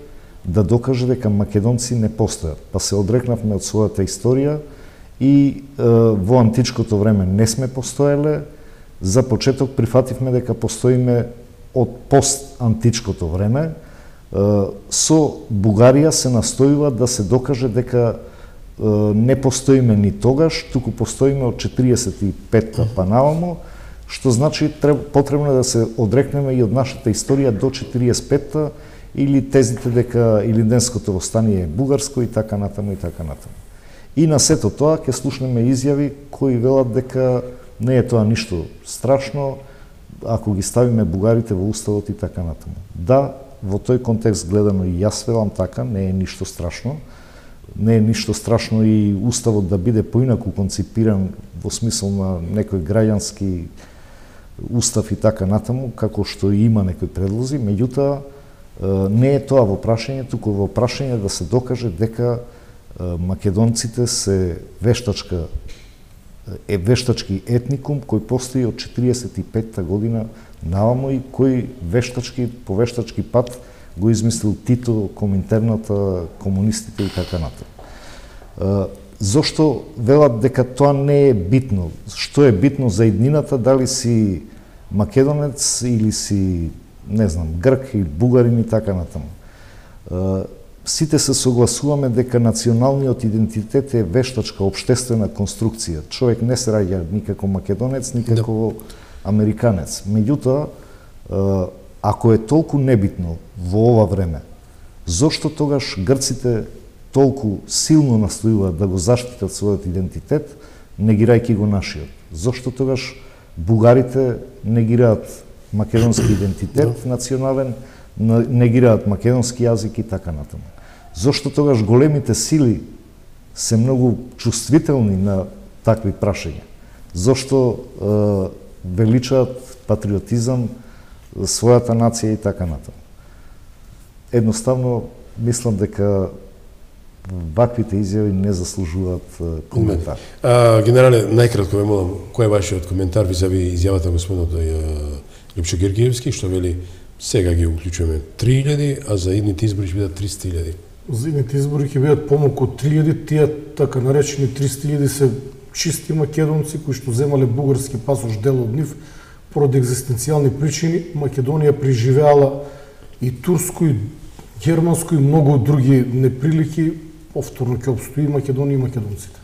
да докаже дека македонци не постојат. Па се одрекнавме од својата историја и во античкото време не сме постоеле. За почеток прифативме дека постоиме од пост-античкото време. Со Бугарија се настојува да се докаже дека не постоиме ни тогаш, туку постоиме од четириесет и петта па навамо, што значи потребно е да се одрекнеме и од нашата историја до четириесет и петта или тезите дека Илинденското востание е бугарско и така натаму и така натаму. И на сето тоа ќе слушнеме изјави кои велат дека не е тоа ништо страшно ако ги ставиме бугарите во уставот и така натаму. Да, во тој контекст гледано и јас велам така, не е ништо страшно. Не е ништо страшно и уставот да биде поинаку конципиран во смисол на некој граѓански устав и така натаму, како што и има некои предлози, меѓутоа не е тоа во прашање, туку во прашање да се докаже дека македонците се вештачка е вештачки етникум кој постои од четириесет и петта година навамо и кој вештачки по вештачки пат го измислил Тито, Коминтерната, комунистите и така натаму. Зошто велат дека тоа не е битно? Што е битно за иднината, дали си македонец или си, не знам, грк или бугарин и така натаму. Сите се согласуваме дека националниот идентитет е вештачка обштествена конструкција. Човек не се раѓа ни како македонец, ни како американец. Меѓутоа, ако е толку небитно во ова време, зошто тогаш грците толку силно настојуваат да го заштитат својот идентитет, негирајќи го нашиот? Зошто тогаш бугарите негираат македонски идентитет национален, негираат македонски јазик и така натаму? Зошто тогаш големите сили се многу чувствителни на такви прашања? Зошто е, величаат патриотизам, својата нација и така натаму? Едноставно, мислам дека ваквите изјави не заслужуваат коментар. А, генерале, најкратко ве молам, кој е вашиот коментар визави изјавата на господинот Липчо Гергиевски, што вели сега ги уклучуваме три илјади, а за идните избори ќе бидат триста илјади? За идните избори ќе бидат помалку од три илјади, тие така наречени триста илјади се чисти македонци кои што земале бугарски пасош, дел од нив поради екзистенцијални причини. Македонија преживеала и турско, и германско, и многу други неприлики. Повторно ќе обстои Македонија и македонците.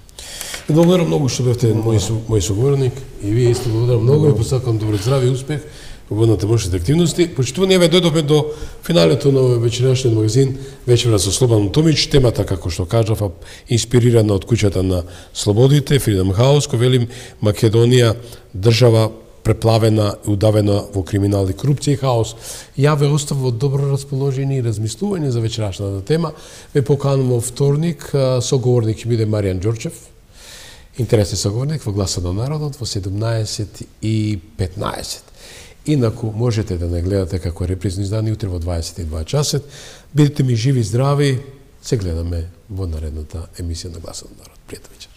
Благодарам многу што бевте мој, мој соговорник и вие исто благодарам многу и посакам добро здравје и успех во водната можните активности. Почитувани, еве дојдовме до финалето на вечерашниот магазин Вечера со Слободан Томич. Темата, како што кажав, инспирирана од куќата на слободите, Freedom House, кој велим Македонија држава преплавена и удавена во криминал и корупција и хаос. Ја ве оставам во добро расположение и размислување за вечерашната тема. Ве поканувам во вторник, соговорник ќе биде Маријан Ѓорчев, интересен соговорник во Гласот на народот во седумнаесет и петнаесет. Инаку можете да не гледате како репризно издание утре во дваесет и два часот. Бидете ми живи и здрави. Се гледаме во наредната емисија на Гласот на народ. Пријатна вечер.